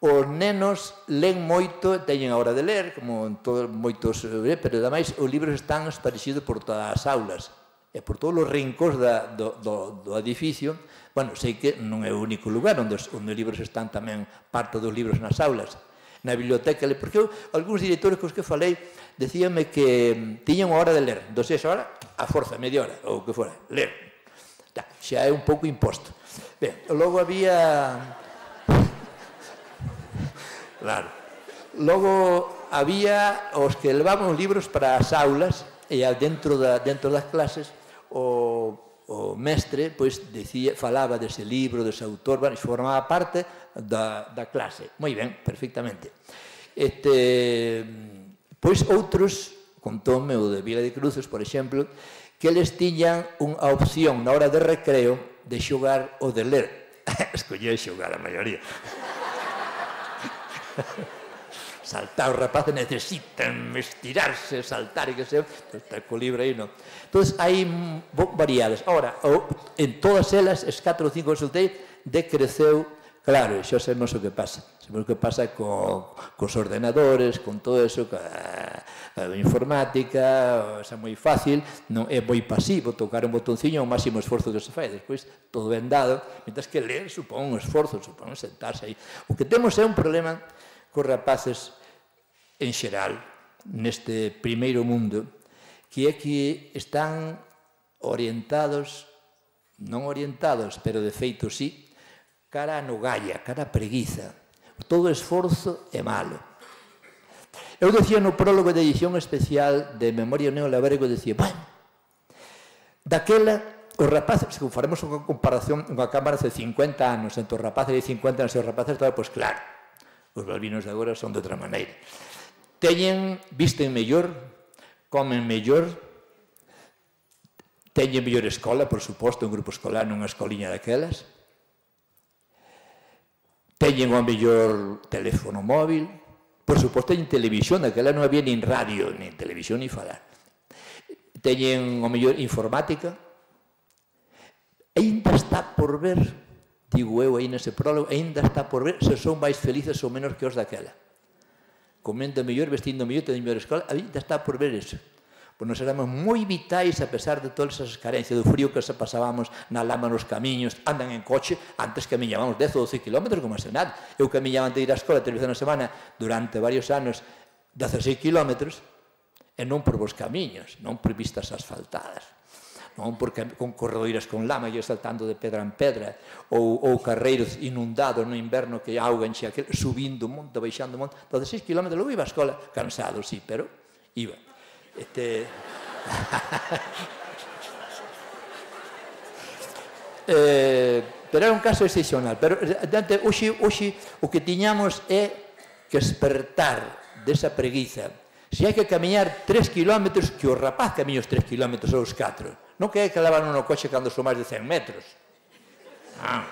os nenos len moito, teñen a hora de ler, como en todos moitos, pero ademais os libros están esparecidos por todas as aulas e por todos os rincóns da, do, do, do edificio. Bueno, sei que non é o único lugar onde os, onde os libros están tamén, parte dos libros nas aulas, na biblioteca, porque eu, algúns directores cos que falei decíanme que tiñan unha hora de ler, entón esa hora, a forza, media hora, ou que fora, ler. Xa é un pouco imposto. Ben, logo había... Claro. Logo había os que levaban os libros para as aulas e dentro, da, dentro das clases o, o mestre pois, decía, falaba dese libro, dese autor, bueno, formaba parte da, da clase. Moi ben, perfectamente. Este, pois outros, contoume o de Vila de Cruces, por exemplo, que eles tiñan unha opción na hora de recreo de xogar ou de ler. Escolleu xogar a maioría. Saltar, os rapaces necesitan estirarse, saltar e que se... Está co libro aí, non? Entón, hai variadas. Ahora, en todas elas, es catro ou cinco que soltei, decreceu, claro, xa sabemos o que pasa. Sabemos o que pasa cos ordenadores, con todo eso, a informática, é moi fácil, é moi pasivo, tocar un botonciño é o máximo esforzo que se fai, despois todo ben dado, mentras que ler supón un esforzo, supón sentarse aí. O que temos é un problema cos rapaces en xeral, neste primeiro mundo, que é que están orientados, non orientados, pero de feito sí, cara a nogalla, cara a preguiza. Todo esforzo é malo. Eu decía no prólogo de edición especial de Memoria Neolabrego, decía, bueno, daquela, os rapaces, se faremos unha comparación, unha cámara de cincuenta anos, entre os rapaces de cincuenta anos e os rapaces de agora, pois claro, os balbinos de agora son de outra maneira. Teñen, visten mellor, comen mellor, teñen mellor escola, por suposto, un grupo escolar nunha escoliña daquelas, teñen o mellor teléfono móvil, por suposto, teñen televisión, daquela non había nin radio, nin televisión, nin falar. Teñen o mellor informática, ainda está por ver, digo eu aí nese prólogo, ainda está por ver se son máis felices ou menos que os daquela. Comendo mellor, vestindo mellor, teñen mellor escola, ainda está por ver eso. Pois nos éramos moi vitais a pesar de todas esas carencias, do frío que se pasábamos na lama nos camiños, andan en coche, antes camiñábamos dez ou doce kilómetros, como se nada. Eu camiñaba antes de ir á escola, tres veces na semana, durante varios anos, dezaseis kilómetros, e non por vos camiños, non por vistas asfaltadas, non porque con corredoiras con lama e saltando de pedra en pedra, ou, ou carreiros inundados no inverno que auga enxe aquel, subindo un monte, baixando un monte, dezaseis kilómetros, logo iba á escola, cansado, sí, pero iba. Este... eh, pero era un caso excepcional, pero hoxe, hoxe o que tiñamos é que despertar desa preguiza. Se hai que camiñar tres kilómetros, que o rapaz camiña os tres kilómetros ou os catro. Non que hai que levar no coche cando son máis de cen metros. Ah.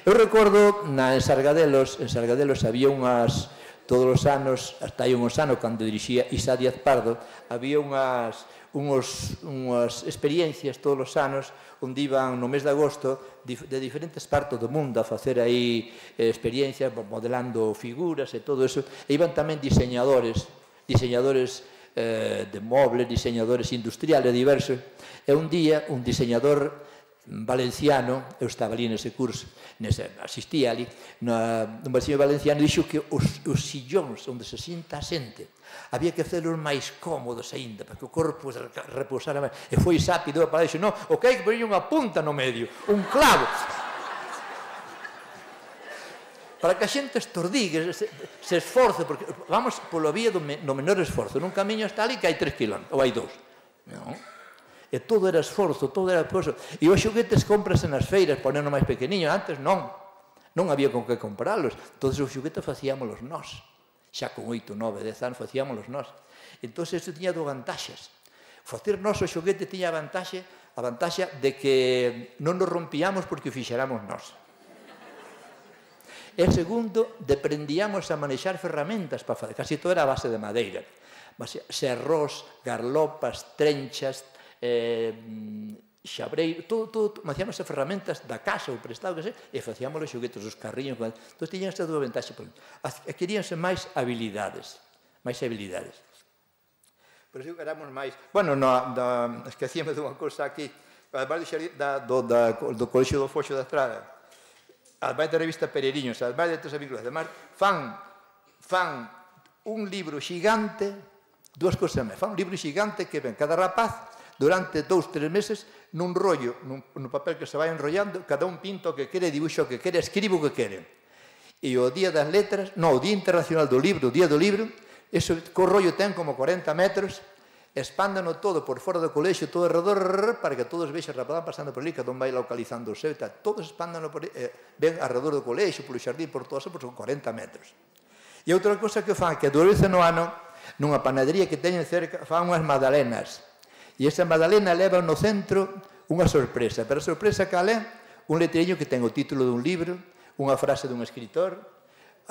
Eu recordo, na, en Sargadelos, en Sargadelos había unhas, todos os anos, hasta hai unhos anos, cando dirixía Isa Díaz Pardo, había unhas, unhos, unhas experiencias todos os anos, onde iban no mes de agosto de diferentes partes do mundo a facer aí experiencias, modelando figuras e todo eso, e iban tamén diseñadores, diseñadores eh, de mobles, diseñadores industriales diversos, e un día un diseñador valenciano, eu estaba ali nese curso, nese, asistía ali, nun veciño valenciano, dixo que os, os sillóns onde se sinta a xente había que hacerlos máis cómodos aínda, para que o corpo repousara máis. E foi sápido para dixo, non, o que hai que poñer unha punta no medio, un clavo, para que a xente estordigue, se, se esforce, porque vamos polo vía do, me, do menor esforzo. Nun camiño está ali que hai tres kilómetros, ou hai dous. Non? E todo era esforzo, todo era esforzo. E os xoguetes comprase nas feiras, ponernos máis pequeniños, antes non. Non había con que comprarlos. Entón, os xoguetes facíamos nós. Xa con oito, nove, dez anos facíamos nós. Entón, isto tiña dúas vantaxes. Facer nós o xoguete tiña a vantaxe, a vantaxe de que non nos rompíamos porque o fixéramos nós. E segundo, deprendíamos a manexar ferramentas para fazer. Casi todo era a base de madeira. Serrós, garlopas, trenchas, eh, xabreiro, todo, todo, facíamos as ferramentas da casa, o prestado, que sei, e facíamos os xoguetes, os carriños, entón tiñan esta dúa ventaxe, adquiríanse máis habilidades, máis habilidades. Por iso éramos máis, bueno, no, da, esquecíame dunha cousa aquí, además do, da, do Colexio do Foxo da Estrada, además da revista Pereiriños, además de todas as vínculas, además, fan, fan un libro xigante, dúas cousas máis, fan un libro xigante que ven cada rapaz durante dous, tres meses nun rollo, nun, nun papel que se vai enrollando, cada un pinta o que quere, dibuixo o que quere, escribe o que quere. E o Día das Letras, non, o Día Internacional do Libro, o Día do Libro, eso, co rollo ten como corenta metros, expándano todo por fora do colexio, todo alrededor, para que todos vexan, rapaz, pasando por ali, cada un vai localizando o seu, tal, todos expándano por ali, eh, ven alrededor do colexio, polo xardín, por todo eso, por son corenta metros. E outra cosa que fan, que dúas veces no ano, nunha panadería que teñen cerca, fan unhas magdalenas. E esa magdalena leva no centro unha sorpresa. Pero a sorpresa cal é? Un letreño que ten o título dun libro, unha frase dun escritor,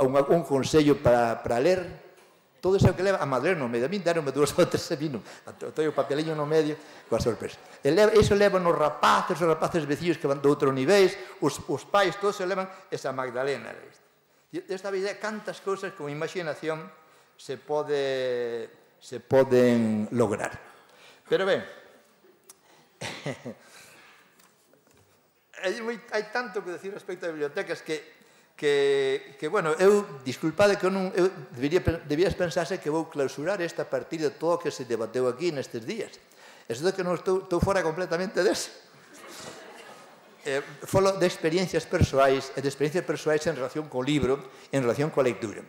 unha, un consello para, para ler. Todo iso que leva a magdalena no medio. A mí deronme dúas ou tres e vino. Todo o papeliño no medio coa sorpresa. E leva, iso leva nos rapaces, os rapaces veciños que van de outros niveis, os, os pais, todos se levan esa magdalena. E esta vida, cantas cousas con imaginación se pode se poden lograr. Pero ben, hai tanto que decir respecto a bibliotecas que, que, que bueno, eu, disculpade que eu non, eu debería, debías pensarse que vou clausurar esta a partir de todo o que se debateu aquí nestes días. Eso de que non estou, estou fora completamente deso. Eh, falo de experiencias persoais e de experiencias persoais en relación co libro, en relación coa lectura.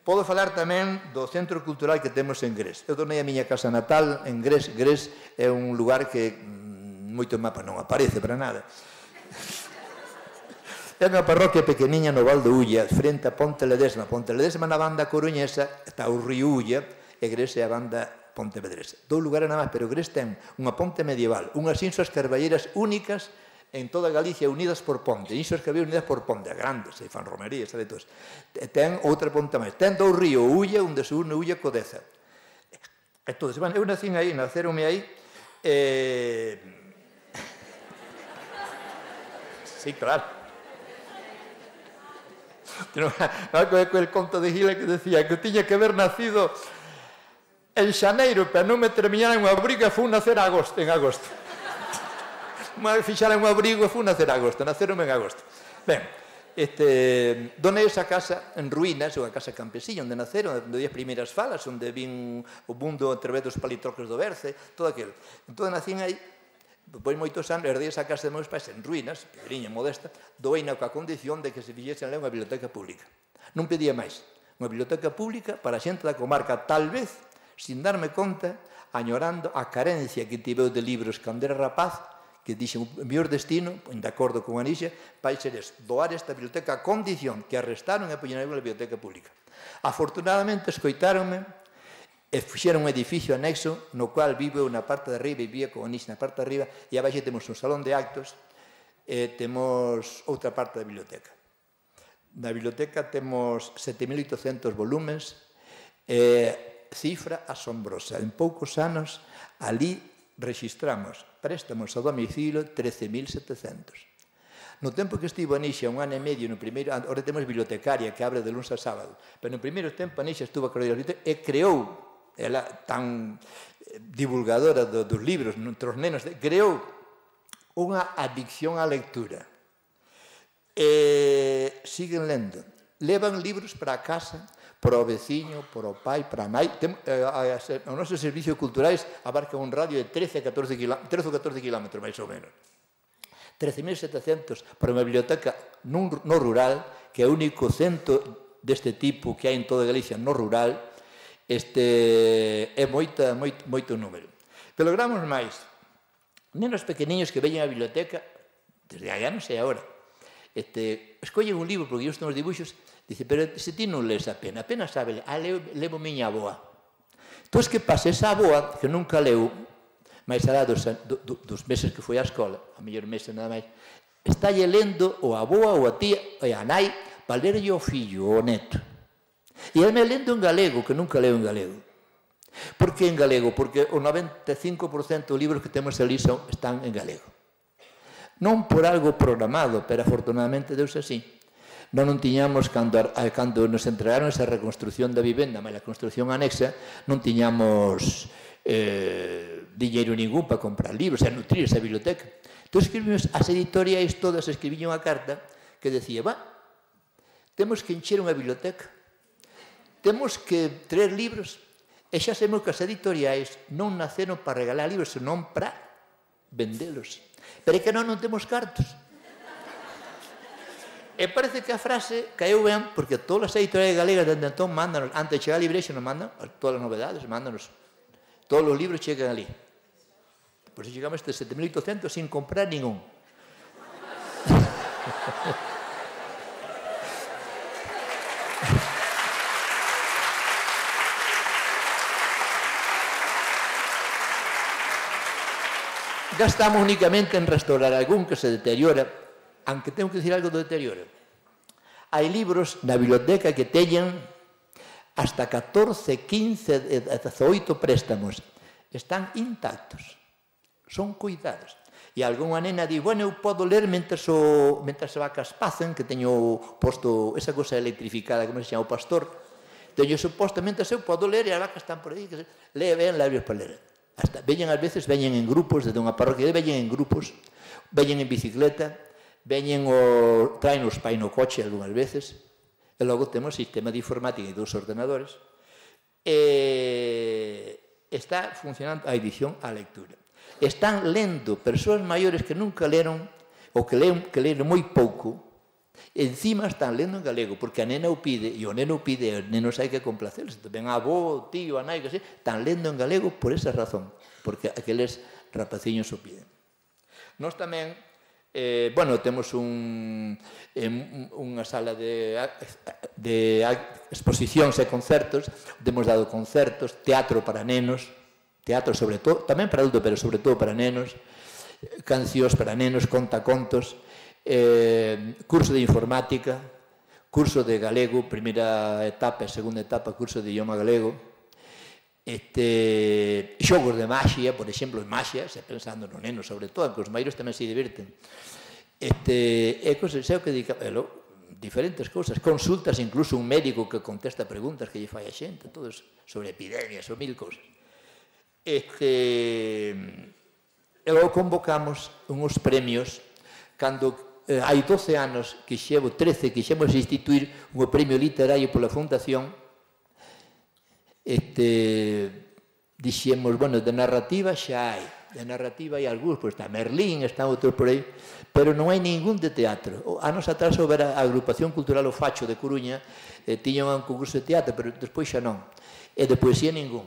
Podo falar tamén do centro cultural que temos en Gres. Eu tornei a miña casa natal en Gres. Gres é un lugar que moito mapa non aparece para nada. É unha parroquia pequeniña no Val do Ulla, frente a Ponte Ledesma. Ponte Ledesma na banda coruñesa está o río Ulla e Gres é a banda pontevedresa. Dous lugares nada máis, pero Gres ten unha ponte medieval, unhas insas carballeiras únicas en toda Galicia, unidas por ponte. Insas que había unidas por ponte, grandes, e fan romerías, sabe todos. Ten outra ponte máis. Ten dous ríos, Ulla, onde se une Ulla co Deza. Entón, bueno, eu nacín aí, naceronme aí, eh... sí, claro. Algo é el conto de Gila que decía que tiña que haber nacido en xaneiro, pero non me terminara en unha briga, fui nacer en agosto. Fixaran un abrigo e fui nacer en agosto, naceronme en agosto. Ben, este, donei esa casa en ruínas, unha casa campesina, onde naceron, onde as primeiras falas, onde vin o mundo a través dos palitroques do Berce, todo aquilo. Entón, nacín aí, depois moitos anos, herdei esa casa de meus pais en ruínas, pequeniña, modesta, doeina coa condición de que se fixesen lá unha biblioteca pública. Non pedía máis. Unha biblioteca pública para a xente da comarca, tal vez, sin darme conta, añorando a carencia que tiveu de libros cando era rapaz, que dixen, o mellor destino, de acordo con Anixa, vai ser doar esta biblioteca a condición que arrestaron e poñeron na biblioteca pública. Afortunadamente, escoitáronme e fixeron un edificio anexo no cual vivo na parte de arriba e vivía con Anixa na parte de arriba e abaixo temos un salón de actos e temos outra parte da biblioteca. Na biblioteca temos sete mil oitocentos volumes e cifra asombrosa. En poucos anos, ali registramos préstamos a domicilio trece mil setecentos. No tempo que estivo Anixa un ano e medio, no primeiro, ahora temos bibliotecaria que abre de lunes a sábado, pero no primeiro tempo Anixa estuvo a crear e creou, ela tan divulgadora do, dos libros, entre os nenos, creou unha adicción á lectura. E siguen lendo. Levan libros para a casa, para o veciño, para o pai, para a nai. O noso servicios culturais abarca un radio de trece a catorce kilómetros, máis ou menos. trece mil setecentos para unha biblioteca no rural, que é o único centro deste tipo que hai en toda Galicia no rural, é moito número. Pero logramos máis. Nenos pequeniños que veñen á biblioteca, desde hai anos e agora, escollen un libro, porque eu estou nos dibuixos, dice, pero se ti non lees a pena, apenas sabe, ah, levo miña aboa. Entón, que pasa? Esa aboa, que nunca leu, máis alá dos, do, dos meses que foi á escola, a mellor meses nada máis, está lle lendo o aboa ou a tía, e a nai, para lerlle o fillo, o neto. E ele me lendo en galego, que nunca leo en galego. Por que en galego? Porque o noventa e cinco por cento dos libros que temos ali son, están en galego. Non por algo programado, pero afortunadamente deus así. Non non tiñamos, cando, cando nos entregaron esa reconstrucción da vivenda, mas a construcción anexa, non tiñamos eh, dinheiro ningún para comprar libros, e nutrir esa biblioteca. Entón escribimos, as editoriais todas escribían unha carta que decía, va, temos que encher unha biblioteca, temos que traer libros, e xa sabemos que as editoriais non naceron para regalar libros, senón para vendelos. Pero é que non non temos cartos. E parece que a frase caeu ben, porque todas as editoriais galegas dende entón mándanos, antes de chegar a librexa nos mandan todas as novedades, mándanos, todos os libros chegan ali. Por iso chegamos este sete mil oitocentos sin comprar ningún. Gastamos únicamente en restaurar algún que se deteriora, aunque tengo que decir algo do deterioro. Hai libros na biblioteca que teñen hasta catorce, quince, dezaoito préstamos. Están intactos, son cuidados. E algunha nena di, bueno, eu podo ler mentres, o, mentres as vacas pacen, que teño posto esa cosa electrificada, como se chama, o pastor. Teño suposto, mentres eu podo ler e as vacas están por aí, que se... lee ben labios para ler. Hasta, veñen ás veces, veñen en grupos, desde unha parroquia, veñen en grupos, veñen en bicicleta, veñen o, traen os pai no coche algunhas veces, e logo temos sistema de informática e dos ordenadores, e está funcionando a edición á lectura. Están lendo persoas maiores que nunca leron, ou que leron, que leron moi pouco, e encima están lendo en galego, porque a nena o pide, e o neno o pide, e os nenos hai que complacerse. Tamén a avó, o tío, a nai, que sei, están lendo en galego por esa razón, porque aqueles rapaciños o piden. Nós tamén, eh, bueno, temos un, eh, unha sala de, de exposicións e concertos, temos dado concertos, teatro para nenos, teatro sobre todo, tamén para adultos, pero sobre todo para nenos, cancións para nenos, contacontos, Eh, curso de informática, curso de galego, primeira etapa e segunda etapa, curso de idioma galego, este, xogos de maxia, por exemplo, en maxia, se pensando no neno, sobre todo, que os maiores tamén se diverten. Este, e cosas, sei o que dica, elo, diferentes cousas, consultas, incluso un médico que contesta preguntas que lle fai a xente, todos sobre epidemias ou mil cousas. Este, e logo convocamos uns premios cando Eh, hai doce anos, que xevo trece, que xemos instituir un premio literario pola Fundación, este, dixemos, bueno, de narrativa xa hai, de narrativa hai algúns, pois está Merlín, está outros por aí, pero non hai ningún de teatro. Anos atrás houbera a Agrupación Cultural O Facho de Coruña, eh, tiñan un concurso de teatro, pero despois xa non, e de poesía ningún.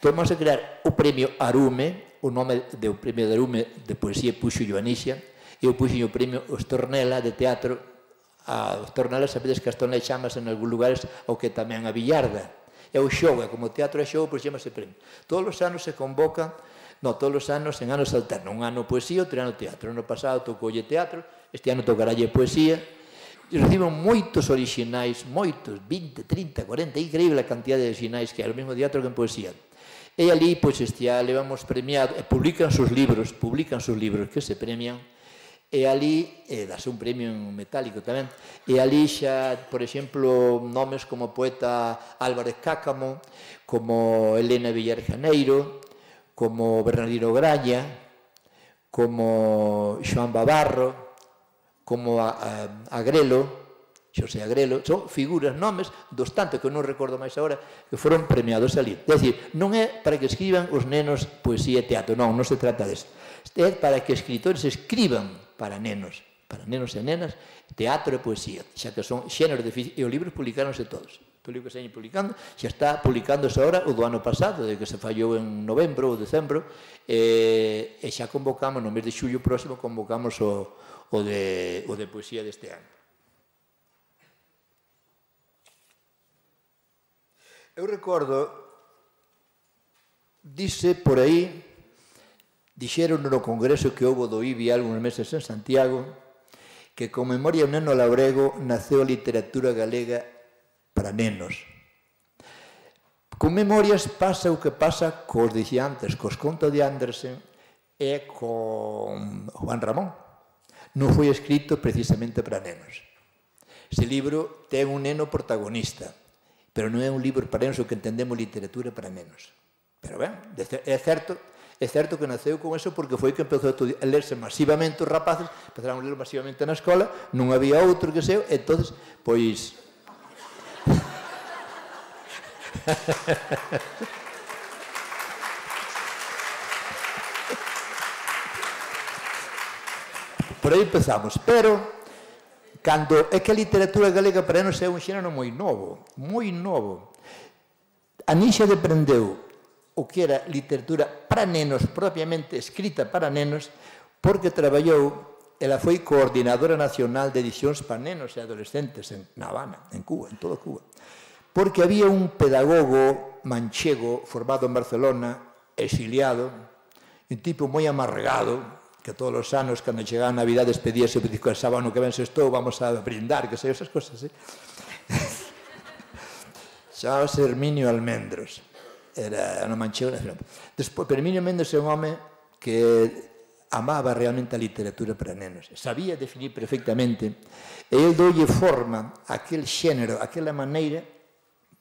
Entón, vamos a crear o premio Arume, o nome do premio de Arume de poesía puxo Joanisia, e eu puxen o premio Ostornela de teatro. A Ostornela, sabedes que a Ostornela chamas en algúns lugares o que tamén a Villarda. É o xogo, como teatro é xogo, pois chamase premio. Todos os anos se convoca, non, todos os anos en anos alternos. Un ano poesía, outro ano teatro. O ano pasado tocoulle teatro, este ano tocaralle poesía. E reciben moitos orixinais, moitos, vinte, trinta, cuarenta, increíble a cantidad de orixinais que hai, o mesmo teatro que en poesía. E ali, pois, este ano levamos premiado, e publican sus libros, publican sus libros que se premian. E ali, e dase un premio en metálico tamén, e ali xa, por exemplo, nomes como o poeta Álvarez Cácamo, como Elena Villar Janeiro, como Bernardino Graña, como Xoán Bavarro, como a, a, Agrelo, Xosé Agrelo, son figuras, nomes dos tantos que non recordo máis agora, que foron premiados ali. É dicir, non é para que escriban os nenos poesía e teatro, non, non se trata disso. É para que escritores escriban para nenos, para nenos e nenas, teatro e poesía, xa que son xéneros de... E os libros publicáronse todos. O libro que se hai publicando, xa está publicándose agora o do ano pasado, de que se fallou en novembro ou decembro, e, e xa convocamos, no mes de xullo próximo, convocamos o, o, de, o de poesía deste ano. Eu recordo, dice por aí, dixeron no congreso que houve do I B I algúns meses en Santiago, que con memoria un neno labrego naceu a literatura galega para nenos. Con memorias pasa o que pasa cos, dixía antes, cos contos de Andersen e con Juan Ramón. non foi escrito precisamente para nenos. Ese libro ten un neno protagonista, pero non é un libro para nenos o que entendemos literatura para nenos. Pero ben, é certo, é certo que naceu con eso porque foi que empezou a lerse masivamente os rapaces, empezaron a ler masivamente na escola, non había outro que seu, entón, pois... Por aí empezamos, pero cando é que a literatura galega para nenos é un xénero moi novo, moi novo. A Nixa deprendeu o que era literatura para nenos, propiamente escrita para nenos, porque traballou, ela foi coordinadora nacional de edicións para nenos e adolescentes na Habana, en Cuba, en toda Cuba. Porque había un pedagogo manchego formado en Barcelona, exiliado, un tipo moi amargado, que todos os anos, cando chegaba a Navidad, despedíase e dicía, sábado que ven se estou, vamos a brindar, que sei, esas cosas, eh? Chábase Herminio Almendros, era un manchego. Despois, Herminio Almendros é un home que amaba realmente a literatura para nenos, sabía definir perfectamente, e ele doulle forma a aquel xénero, aquela maneira,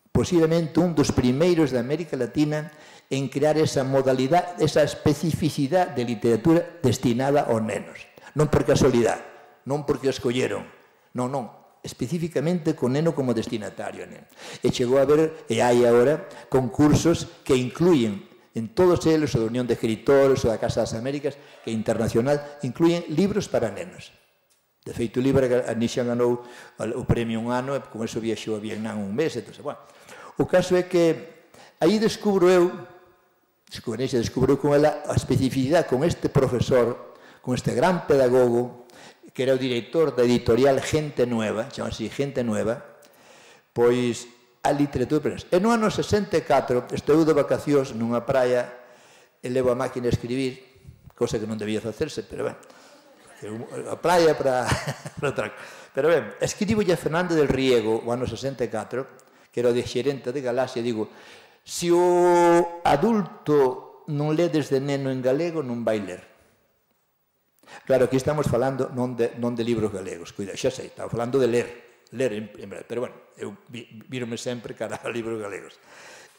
posiblemente un dos primeiros de América Latina en crear esa modalidade, esa especificidade de literatura destinada aos nenos. Non por casualidade, non porque o escolleron, non, non, especificamente con neno como destinatario. E chegou a haber, e hai agora, concursos que incluyen en todos eles, o da Unión de Escritores, o da Casa das Américas, que é internacional, incluyen libros para nenos. De feito, o libro, a Nixa ganou o premio un ano, e con eso viaxou a Vietnam un mes, entón, bueno. O caso é que aí descubro eu, descubro, descubro con ela a especificidade con este profesor, con este gran pedagogo, que era o director da editorial Gente Nueva, chama así Gente Nueva, pois a literatura para nenos. E no ano sesenta e catro estou de vacacións nunha praia e levo a máquina a escribir, cosa que non debía facerse, pero ben, a praia para outra. Pero ben, escribo a Fernández del Riego o ano sesenta e catro, que era o de xerente de Galaxia, digo, se o adulto non lé desde neno en galego, non vai ler. Claro, aquí estamos falando non de, non de libros galegos, cuida, xa sei, estamos falando de ler, ler en, en verdade, pero bueno, eu vírome sempre cara a libros galegos.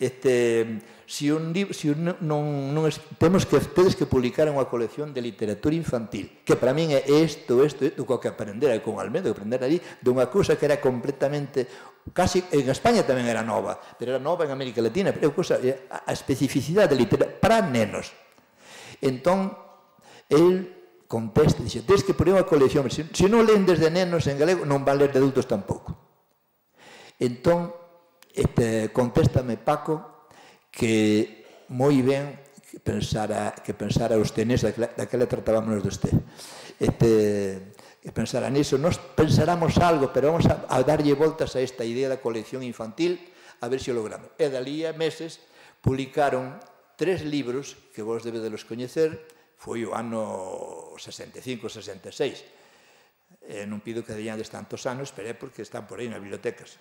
Este, si un libro, si un, non, non es, temos que, tedes que publicar unha colección de literatura infantil, que para min é isto, isto, isto, co que aprender con Almeida, que aprender ali, dunha cousa que era completamente, casi, en España tamén era nova, pero era nova en América Latina, pero é cousa, a especificidade de literatura para nenos. Entón, el contesta, dixe, tens que poner unha colección, se, se non leen desde nenos en galego, non van ler de adultos tampouco. Entón, este, contéstame Paco que moi ben que pensara, que pensara usted neso, daquela tratábamos de usted, este, que pensara niso, nos pensaramos algo, pero vamos a, a darlle voltas a esta idea da colección infantil, a ver se o logramos. E dali a meses publicaron tres libros que vos debedelos coñecer, foi o ano sesenta e cinco, sesenta e seis. Eh, non pido que deñades tantos anos, pero é porque están por aí nas bibliotecas.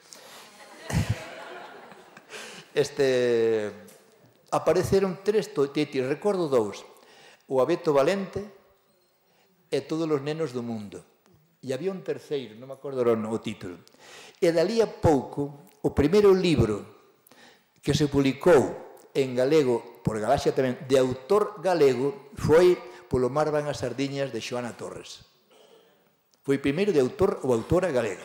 Este, apareceron tres títulos, recordo dous, o Abeto Valente e Todos os nenos do mundo. E había un terceiro, non me acordo o título. E dali a pouco, o primeiro libro que se publicou en galego, por Galaxia tamén, de autor galego, foi Polo mar van as sardiñas de Xoana Torres. Foi primeiro de autor ou autora galega.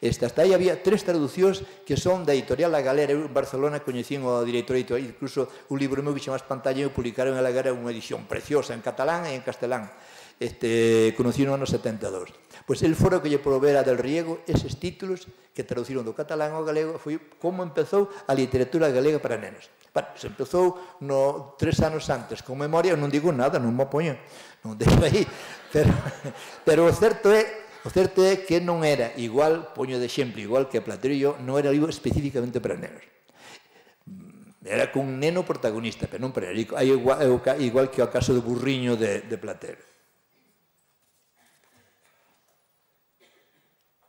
Esta, hasta aí había tres traducións que son da editorial La Galera. Eu en Barcelona coñecín o director editorial, incluso un libro meu que chama Pantalla, e publicaron en La Galera unha edición preciosa en catalán e en castelán. Este, conocí no ano setenta e dous. Pois el foro que lle provera del Riego eses títulos que traduciron do catalán ao galego, foi como empezou a literatura galega para nenos. Bueno, se empezou no, tres anos antes, con memoria, non digo nada, non me apoño, non deixo aí, pero, pero o certo é, o certo é que non era igual, poño de exemplo, igual que Platero, non era libro especificamente para nenos. Era con un neno protagonista, pero non para nenos, igual, igual que o caso do burriño de, de Platero.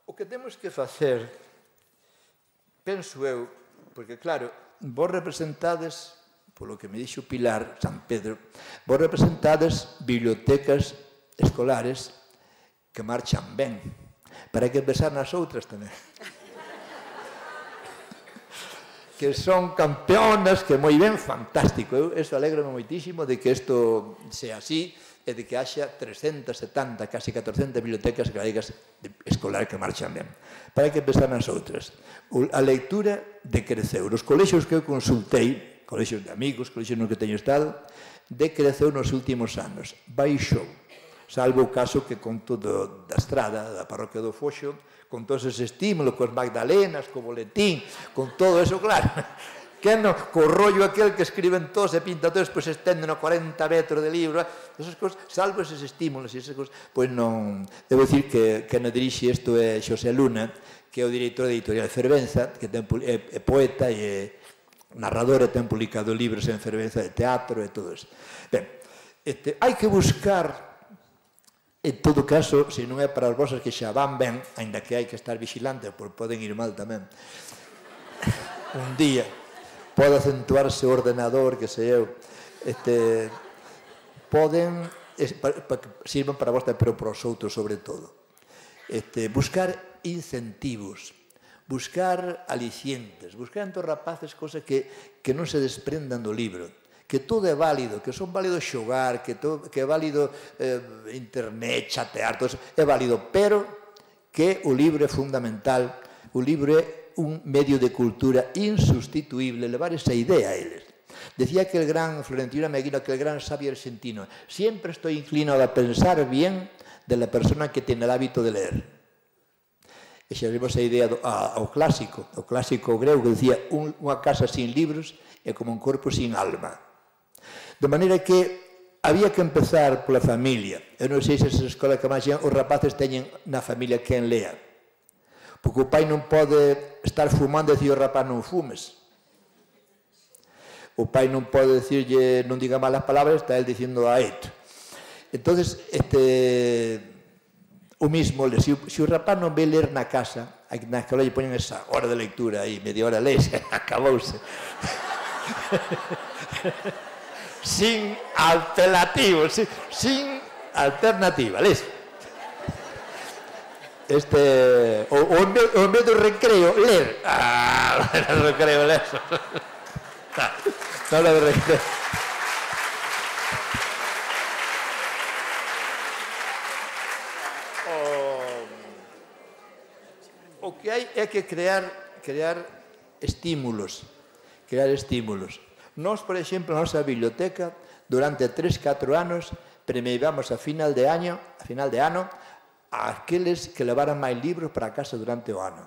O que temos que facer, penso eu, porque claro, vos representades, polo que me dixo Pilar San Pedro, vos representades bibliotecas escolares que marchan ben. Pero hai que pensar nas outras tamén. Que son campeonas, que moi ben, fantástico. Eu eso alegro-me moitísimo de que isto sea así e de que haxa trescentas setenta, casi catorcentas bibliotecas galegas escolar que marchan ben. Pero hai que pensar nas outras. A lectura decreceu. Os colexios que eu consultei, colexios de amigos, colexios no que teño estado, decreceu nos últimos anos. Baixou. Salvo o caso que conto do, da estrada, da parroquia do Foxo, con todos eses estímulos, con magdalenas, co boletín, con todo eso, claro. Que no, co rollo aquel que escriben todos e pintan todos, pois estenden a cuarenta metros de libro, esas cosas, salvo eses estímulos e esas cosas, pois non... Debo dicir que, que non dirixe isto é Xosé Luna, que é o director da editorial Fervenza, que ten, é, é poeta e é narrador e ten publicado libros en Fervenza de teatro e todo eso. Ben, este, hai que buscar... En todo caso, se non é para as vosas que xa van ben, ainda que hai que estar vigilante, porque poden ir mal tamén, un día pode acentuarse o ordenador, que sei eu, este, poden, es, pa, pa, sirvan para vos, pero para os outros sobre todo. Este, buscar incentivos, buscar alicientes, buscar entre os rapaces cosas que, que non se desprendan do libro, que todo é válido, que son válidos xogar, que, todo, que é válido eh, internet, chatear, todo eso, é válido, pero que o libro é fundamental, o libro é un medio de cultura insustituible, levar esa idea a eles. Decía que el gran Florentino Meguino, que el gran sabio argentino, siempre estoy inclinado a pensar bien de la persona que tiene el hábito de leer. E xa vimos a idea do, a, ao clásico, o clásico grego que decía un, unha casa sin libros é como un corpo sin alma. De maneira que había que empezar pola familia. Eu non sei se esa escola que máis os rapaces teñen na familia quen lea. Porque o pai non pode estar fumando e dicir ao rapaz non fumes. O pai non pode dicirlle non diga malas palabras, está el dicindo a et. Entonces, este, o mismo, se o, se o rapaz non ve ler na casa, na escola lle poñen esa hora de lectura aí, media hora leis, acabouse. Sin apelativo, sin, sin alternativa, leis. Este, o, o, en vez, o en vez do recreo, ler. Ah, o recreo, ler. No, no, no, recreo. O, o que hai é que crear, crear estímulos, crear estímulos. Nós, por exemplo, na nosa biblioteca, durante tres, catro anos, premiamos a final de ano, a final de ano, a aqueles que levaran máis libros para casa durante o ano.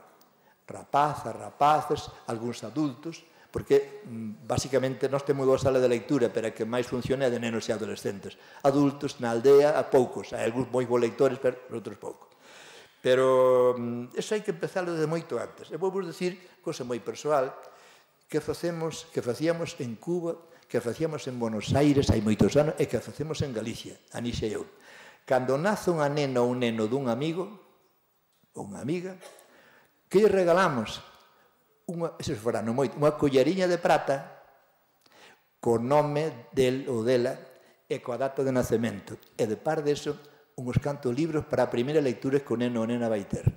Rapazas, rapaces, algúns adultos, porque, basicamente, nós temos dúas salas de lectura, pero a que máis funciona é de nenos e adolescentes. Adultos, na aldea, a poucos. Hai algúns moi bons lectores, pero outros poucos. Pero, eso hai que empezarlo desde moito antes. E vou vos dicir, cosa moi persoal, que facemos, que facíamos en Cuba, que facíamos en Buenos Aires hai moitos anos e que facemos en Galicia, Anixa e eu. Cando nace unha nena ou un neno dun amigo ou unha amiga, que lle regalamos unha, eso fora non moito, unha collariña de prata co nome del ou dela e coa data de nacemento. E de par deso, uns cantos libros para a primeira lectura que o neno ou nena vai ter.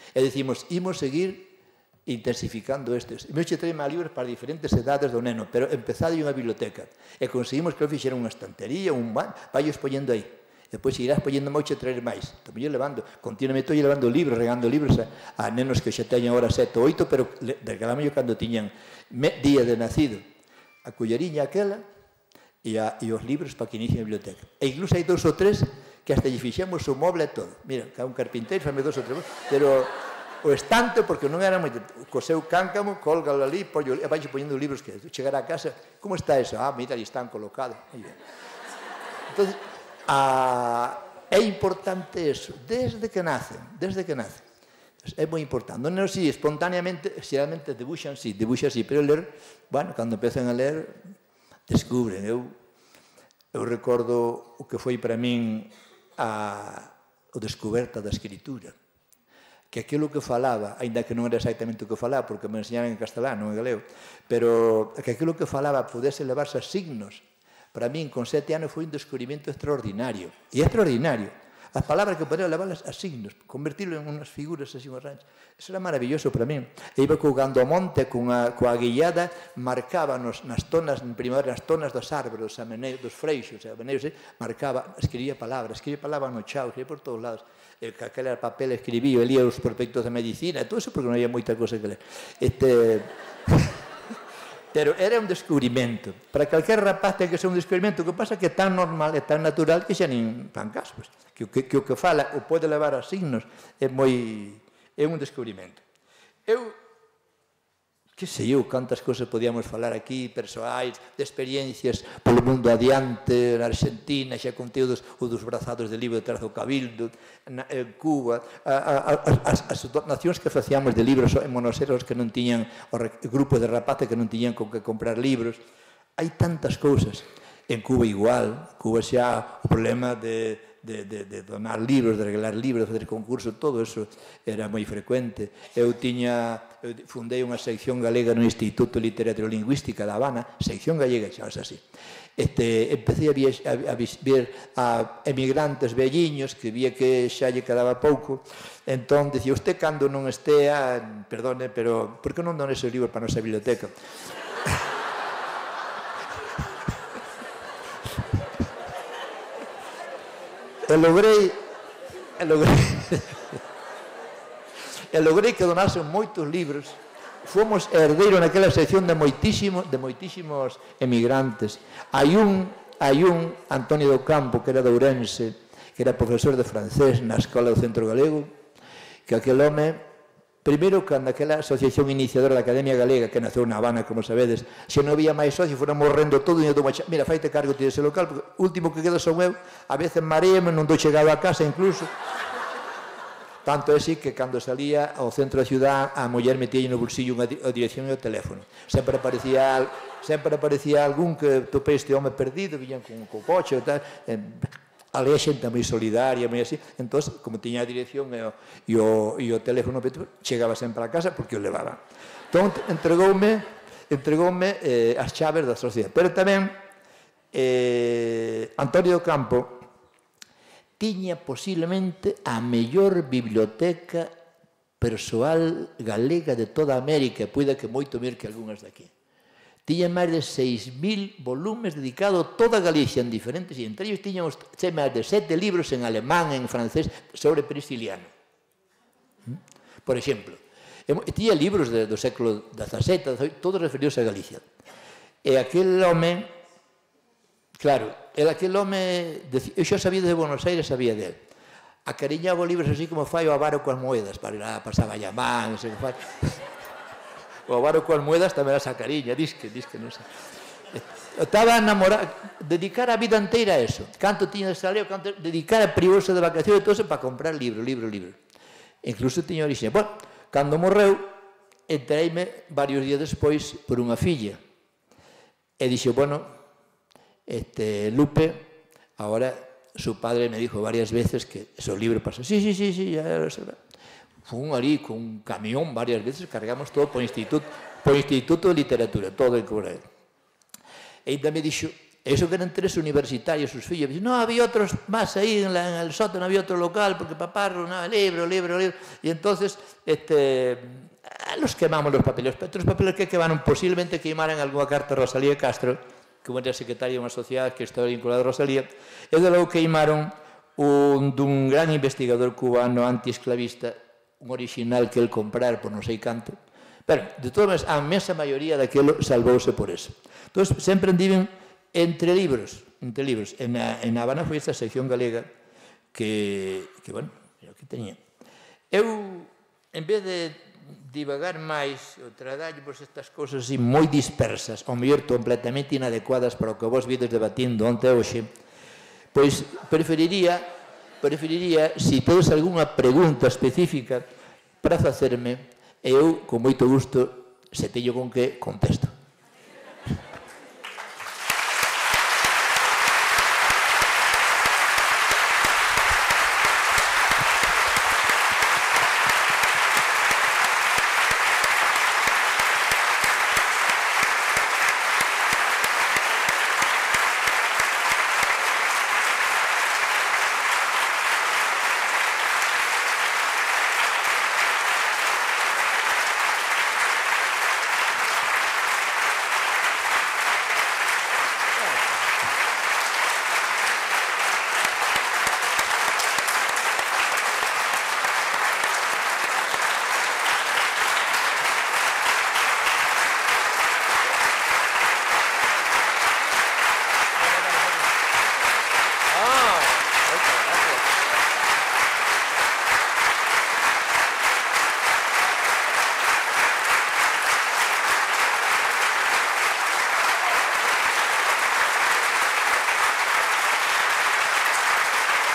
E dicimos, imos seguir intensificando estes. E me che trae máis libros para diferentes edades do neno, pero empezade unha biblioteca. E conseguimos que eu fixera unha estantería, un van, vai expoñendo aí. Depois irás poñendo moito e traer máis. Também eu levando, continuamente estou levando libros, regando libros a, a nenos que xa teñen ahora sete ou oito, pero regalamos yo cando tiñan me, día de nacido. A colleriña aquela e, a, e os libros para que inicien a biblioteca. E incluso hai dous ou tres que hasta lle fixemos o moble e todo. Mira, cada un carpinteiro, fame dous ou tres, pero o estante, porque non era moito, co seu cáncamo, colgalo ali, pollo, e vai poñendo libros que chegar a casa, como está eso? Ah, mira, ali están colocados. Entón, a, é importante eso, desde que nacen, desde que nacen. É moi importante. Non é así, espontáneamente, xeralmente debuxan, sí, debuxan, sí, pero ler, bueno, cando empezan a ler, descubren. Eu, eu recordo o que foi para min a, o descoberta da escritura. Que aquilo que falaba, ainda que non era exactamente o que falaba, porque me enseñaban en castelán, non en galego, pero que aquilo que falaba pudese levarse a signos, para min, con sete anos, foi un descubrimento extraordinario. E extraordinario. As palabras que podía levarlas a signos, convertirlo en unas figuras así, unhas ranchas. Eso era maravilloso para mí. E iba cogando ao monte, cunha, coa guillada, marcaba nos, nas tonas, en primavera, nas tonas dos árboles, dos ameneiros, dos freixos, ameneiros, eh, marcaba, escribía palabras, escribía palabras no chao, escribía por todos lados. El que aquel papel escribía, lía os prospectos de medicina, todo eso porque non había moita cosa que ler. Este... Pero era un descubrimento. Para calquer rapaz ten que ser un descubrimento. O que pasa é que é tan normal, é tan natural que xa nin fan caso. Pues, que, que, que o que fala o pode levar a signos é moi... é un descubrimento. Eu, que sei eu, cantas cousas podíamos falar aquí, persoais, de experiencias polo mundo adiante, na Argentina, xa contei dos, o dos brazados de libro detrás do Cabildo, na, en Cuba, a, a, a, as, as donacións que facíamos de libros en monoseros que non tiñan, o grupos de rapaces que non tiñan con que comprar libros. Hai tantas cousas. En Cuba igual, Cuba xa o problema de... De, de, de donar libros, de regalar libros, de fazer concursos, todo eso era moi frecuente. Eu tiña, eu fundei unha sección galega no Instituto de Literatura e Lingüística da Habana, sección gallega, chamase así. Este, empecé a, viax, a, a ver a emigrantes velliños que vía que xa lle quedaba pouco, entón dicía, usted cando non estea, perdone, pero por que non dona ese libro para a nosa biblioteca? E logrei, e logrei, e logrei que donasen moitos libros. Fomos herdeiros naquela sección de moitísimos, de moitísimos emigrantes. Hai un, hai un, Antonio do Campo, que era de Ourense, que era profesor de francés na Escola do Centro Galego, que aquel home... Primeiro, cando aquela asociación iniciadora da Academia Galega, que naceu na Habana, como sabedes, se non había máis socios, foron morrendo todo, e eu tomo, mira, faite cargo ti dese local, porque o último que queda son eu, a veces mareame, non dou chegado a casa incluso. Tanto é así que cando salía ao centro da ciudad, a muller metía no bolsillo unha dirección e o teléfono. Sempre aparecía, sempre aparecía algún que topei este home perdido, viñan con o coche e tal, ali a xente moi solidaria, moi así, entón, como tiña a dirección e o, e o, e o teléfono, chegaba sempre a casa porque o levaba. Entón, entregoume, entregoume eh, as chaves da sociedade. Pero tamén, eh, Antonio do Campo tiña posiblemente a mellor biblioteca persoal galega de toda América, e puida que moito mir que algunhas daqui. Tiña máis de seis mil volumes dedicados a toda Galicia en diferentes, e entre ellos tiñamos máis de sete libros en alemán, en francés, sobre Prisciliano. Por exemplo, tiña libros de, do século dezasete, dezaoito, todos referidos a Galicia. E aquel home, claro, era aquel home, eu xa sabía de Buenos Aires, sabía dele. Acariñaba libros así como fai o avaro coas moedas, para ir a pasaba a llamar, non sei que fai. O avaro coas moedas tamén era sacariña, disque, disque, non sei. Estaba enamorado, dedicar a vida inteira a eso. Canto tiña de saleo, canto dedicar a privarse de vacacións e todo eso para comprar libro, libro, libro. Incluso tiña orixe. Bueno, cando morreu, entreime varios días despois por unha filla. E dixo, bueno, este, Lupe, ahora su padre me dijo varias veces que esos libros pasan. Sí, sí, sí, sí, ya lo sé. Fun ali con un camión varias veces, cargamos todo por instituto, por instituto de literatura, todo en Corea. E ainda me dixo, eso que eran tres universitarios, sus fillos, me dixo, no, había otros más ahí en, la, en el sótano, había otro local, porque papá no, libro, libro, libro, y entonces, este, los quemamos los papeles, otros papeles que quemaron, posiblemente quemaran alguna carta a Rosalía Castro, que era secretaria de unha sociedade que estaba vinculada a Rosalía, e de logo queimaron un, dun gran investigador cubano antiesclavista, un original que el comprar por non sei canto. Pero, de todas maneras, a mesa maioría daquilo salvouse por eso. Entón, sempre andiven entre libros, entre libros. En a, en Habana foi esta sección galega que, que bueno, que teña. Eu, en vez de divagar máis, o traballo por estas cousas así moi dispersas, ao mellor completamente inadecuadas para o que vos vides debatindo onte e hoxe, pois preferiría, preferiría, se tedes algunha pregunta específica para facerme, eu, con moito gusto, se teño con que contesto.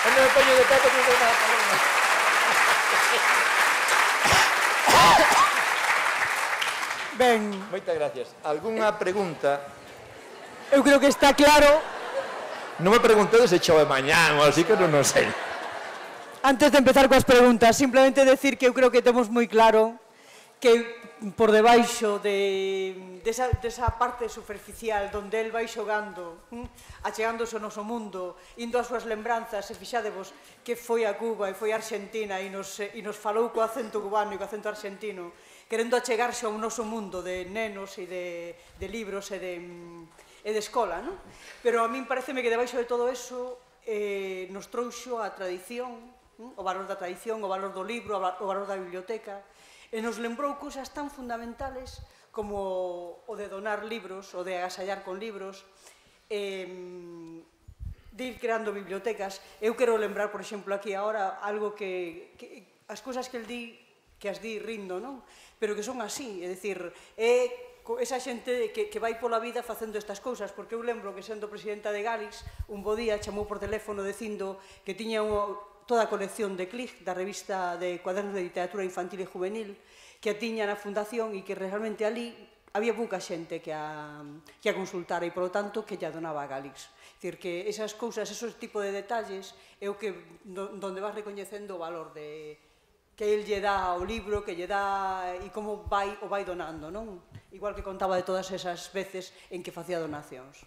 Non me poño de pé porque non nada paloma. Ben, Moitas gracias. Algúnha pregunta? eu creo que está claro. Non me preguntedes se chove mañán ou así que non o sei. Antes de empezar coas preguntas, simplemente decir que eu creo que temos moi claro que por debaixo de, desa, desa parte superficial donde el vai xogando, hm, achegándose ao noso mundo, indo as súas lembranzas, e fixadevos que foi a Cuba e foi a Argentina e nos, e nos falou co acento cubano e co acento argentino, querendo achegarse ao noso mundo de nenos e de, de libros e de, e de escola, non? Pero a min pareceme que debaixo de todo eso eh, nos trouxo a tradición, hm, o valor da tradición, o valor do libro, o valor da biblioteca, e nos lembrou cousas tan fundamentales como o de donar libros, o de agasallar con libros, eh, de ir creando bibliotecas. Eu quero lembrar, por exemplo, aquí agora, algo que, que as cousas que el di, que as di rindo, non? Pero que son así, é dicir, é esa xente que, que vai pola vida facendo estas cousas, porque eu lembro que sendo presidenta de Galix, un bo día chamou por teléfono dicindo que tiña unha toda a colección de Click, da revista de cuadernos de literatura infantil e juvenil, que a tiña na fundación e que realmente ali había pouca xente que a, que a consultara e, polo tanto, que lla donaba a Galix. É dicir, que esas cousas, esos tipos de detalles, é o que, donde vas recoñecendo o valor de que el lle dá ao libro, que lle dá e como vai o vai donando, non? Igual que contaba de todas esas veces en que facía donacións.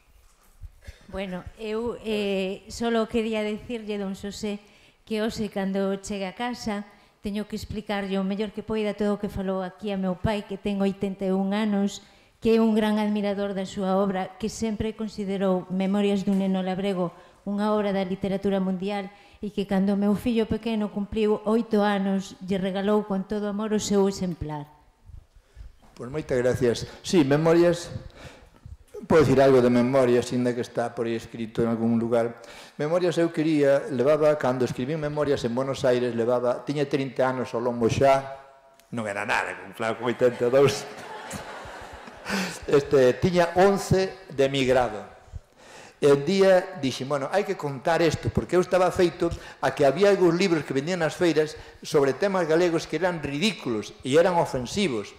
Bueno, eu eh, solo quería decirlle, don Xosé, que hoxe, cando chegue a casa, teño que explicarlle o mellor que poida todo o que falou aquí a meu pai, que ten oitenta e un anos, que é un gran admirador da súa obra, que sempre considerou Memorias dun neno labrego unha obra da literatura mundial e que cando o meu fillo pequeno cumpriu oito anos, lle regalou con todo amor o seu exemplar. Pois moitas gracias. Sí, Memorias... Podo dicir algo de Memorias, ainda que está por aí escrito en algún lugar. Memorias eu quería, levaba, cando escribí Memorias en Buenos Aires, levaba, tiña trinta anos ao lombo xa, non era nada, claro, con oitenta e dous. Este, tiña once de emigrado. E un día dixen, bueno, hai que contar isto, porque eu estaba feito a que había algúns libros que vendían nas feiras sobre temas galegos que eran ridículos e eran ofensivos.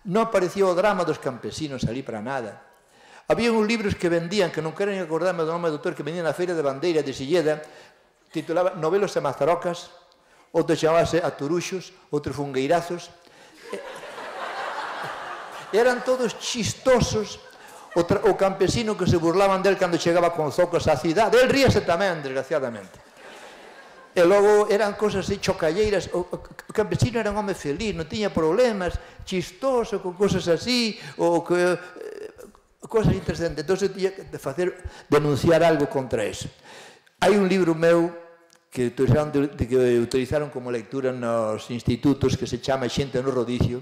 Non aparecía o drama dos campesinos ali para nada. Había uns libros que vendían, que non queren acordarme do nome do autor, que vendían na Feira de Bandeira de Silleda, titulaba Novelos e Mazarocas, outro chamábase Aturuxos, outros Fungueirazos. Eran todos chistosos. O, o campesino que se burlaban del cando chegaba con zocos á cidade, el ríase tamén, desgraciadamente. E logo eran cosas así chocalleiras. O, o, o campesino era un home feliz, non tiña problemas, chistoso, con cosas así, ou que... cosas interesantes. Entón, eu tiña que facer, denunciar algo contra eso. Hai un libro meu que utilizaron, que utilizaron como lectura nos institutos, que se chama Xente no Rodicio,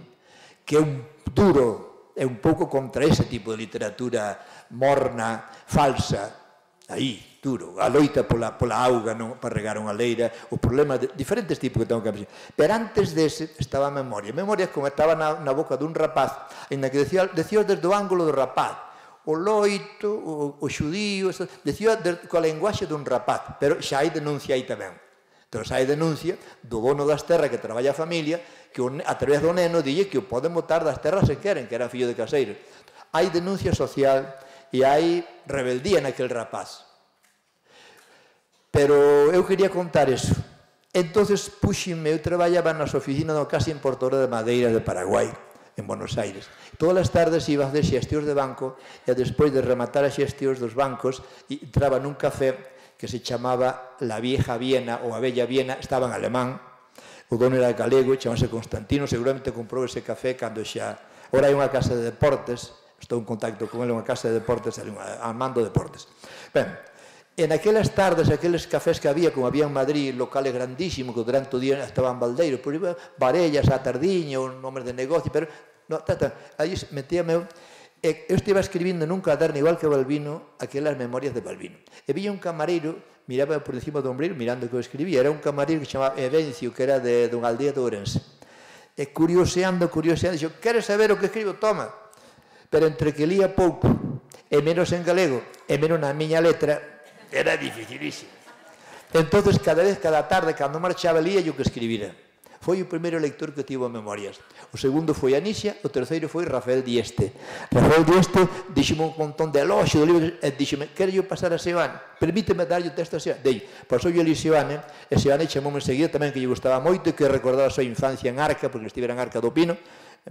que é un duro, é un pouco contra ese tipo de literatura morna, falsa, aí, duro, a loita pola, pola auga, non, para regar unha leira, o problema de diferentes tipos que tengo que aprender. Pero antes dese estaba a Memoria. Memoria como estaba na, na boca dun rapaz, en que decía, decía desde o ángulo do rapaz, o loito, o, o xudío, decía de, coa lenguaxe dun rapaz, pero xa hai denuncia aí tamén. Entón, xa hai denuncia do dono das terras que traballa a familia, que a través do neno dille que o poden botar das terras se queren, que era fillo de caseiro. Hai denuncia social e hai rebeldía naquel rapaz. Pero eu quería contar eso. Entonces puxenme, eu traballaba nas oficinas da Casa Importadora de Madeira de Paraguai, en Buenos Aires. Todas as tardes iba a fazer xestións de banco e despois de rematar as xestións dos bancos entraba nun café que se chamaba La Vieja Viena ou A Bella Viena, estaba en alemán, o dono era galego, chamase Constantino, seguramente comprou ese café cando xa... Ora hai unha casa de deportes, estou en contacto con ele, unha casa de deportes, Armando Deportes. Ben, en aquelas tardes, aqueles cafés que había, como había en Madrid, locales grandísimos, que durante o día estaban baldeiros, por iba Varellas, a tardiña, un nombre de negocio, pero, no, tata, aí metíame, e eu estive escribindo nun caderno, igual que Balbino, aquelas memorias de Balbino. E vía un camareiro, miraba por encima do ombreiro, mirando o que eu escribía, era un camareiro que se chamaba Evencio, que era de, de unha aldea de Ourense. E curioseando, curioseando, dixo, queres saber o que escribo? Toma. Pero entre que lía pouco, e menos en galego, e menos na miña letra, era dificilísimo. Entonces, cada vez, cada tarde, cando marchaba, lía yo que escribira. Foi o primeiro lector que tivo memorias. O segundo foi Anisia, o terceiro foi Rafael Dieste. Rafael Dieste díxeme un montón de eloxio do libro e díxeme, quero yo pasar a Seoane, permíteme darlle o texto a Seoane. Dei, pasou yo ali Seoane, e Seoane chamoume enseguida tamén que lle gustaba moito e que recordaba a súa infancia en Arca, porque estivera en Arca do Pino,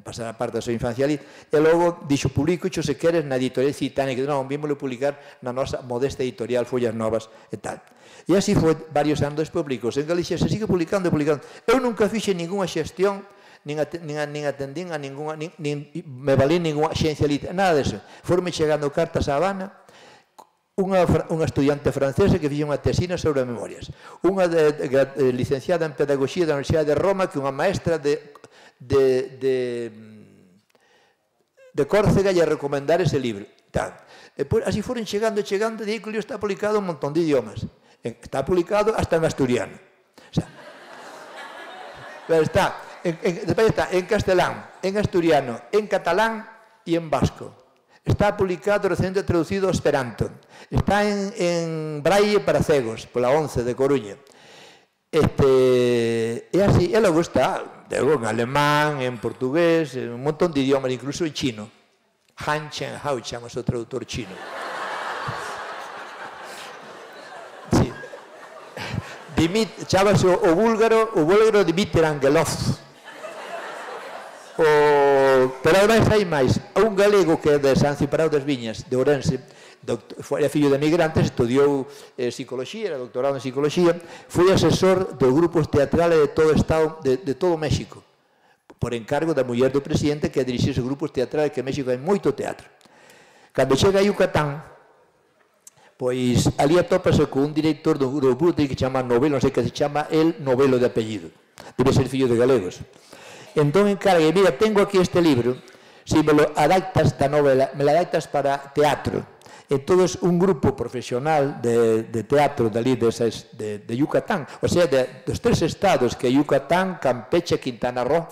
pasar a parte da súa infancia ali, e logo dixo, publico xo se queres na editorial Citania, que non, vímoslo publicar na nosa modesta editorial Follas Novas e tal. E así foi varios anos despois, publicou en Galicia, se sigue publicando e publicando. Eu nunca fixe ninguna xestión, nin, at, nin, nin atendín a ninguna, nin, nin, me valí ninguna xencia literaria, nada deso. Forme chegando cartas a Habana, unha, unha estudiante francesa que fixe unha tesina sobre memorias, unha de, de, de, licenciada en Pedagogía da Universidade de Roma, que unha maestra de, de, de, de Córcega lle recomendar ese libro. Tal. E, pues, así foron chegando, chegando, e aí que o libro está publicado en un montón de idiomas. Está publicado hasta en asturiano. O sea, está, en, en, está en castelán, en asturiano, en catalán y en vasco. Está publicado, recientemente traducido a esperanto. Está en, en braille para cegos, por la once de Coruña. Este, y así, y luego está luego en alemán, en portugués, en un montón de idiomas, incluso en chino. Han Chen Hao Chang es el traductor chino. Chábase o, o búlgaro, o búlgaro Dmitry Angelov. O, pero ademais hai máis. Un galego que é de San Ciprao das Viñas, de Ourense, foi fillo de migrantes, estudiou eh, psicología, era doctorado en psicología, foi asesor dos grupos teatrales de todo o estado, de, de todo México, por encargo da muller do presidente que dirixía os grupos teatrales, que en México hai moito teatro. Cando chega a Yucatán, pois ali atópase con un director do grupo que se chama Novelo, non sei que se chama el Novelo de apellido, debe ser fillo de galegos. Entón encarga, mira, tengo aquí este libro, si me lo adaptas esta novela, me lo adaptas para teatro. Entonces un grupo profesional de, de teatro de ali de, de, de Yucatán, o sea, de, dos tres estados que Yucatán, Campeche, Quintana Roo,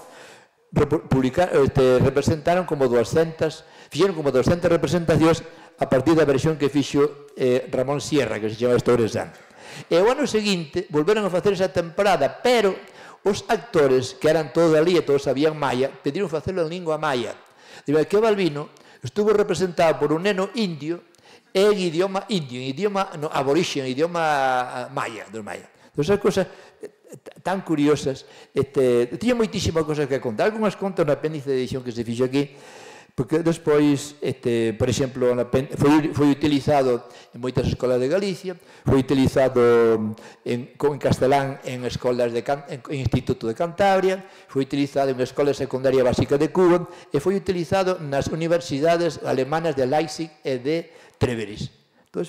publicar, este, representaron como doscientas, fixeron como doscientas representacións a partir da versión que fixo eh, Ramón Sierra, que se chama Estouresán. E o ano seguinte volveron a facer esa temporada, pero os actores, que eran todos ali e todos sabían maya, pediron facelo en lingua maya. Digo, que Balbino estuvo representado por un neno indio en idioma indio, en idioma no, aborigen, en idioma maya, dos maya. Entón, esas cosas tan curiosas, este, tiña moitísimas cosas que contar. Algúnas contas no apéndice de edición que se fixo aquí, porque despois, este, por exemplo, foi, foi utilizado en moitas escolas de Galicia, foi utilizado en, en castelán en escolas de en, en Instituto de Cantabria, foi utilizado en Escola Secundaria Básica de Cuba e foi utilizado nas universidades alemanas de Leipzig e de Treveris. Entón,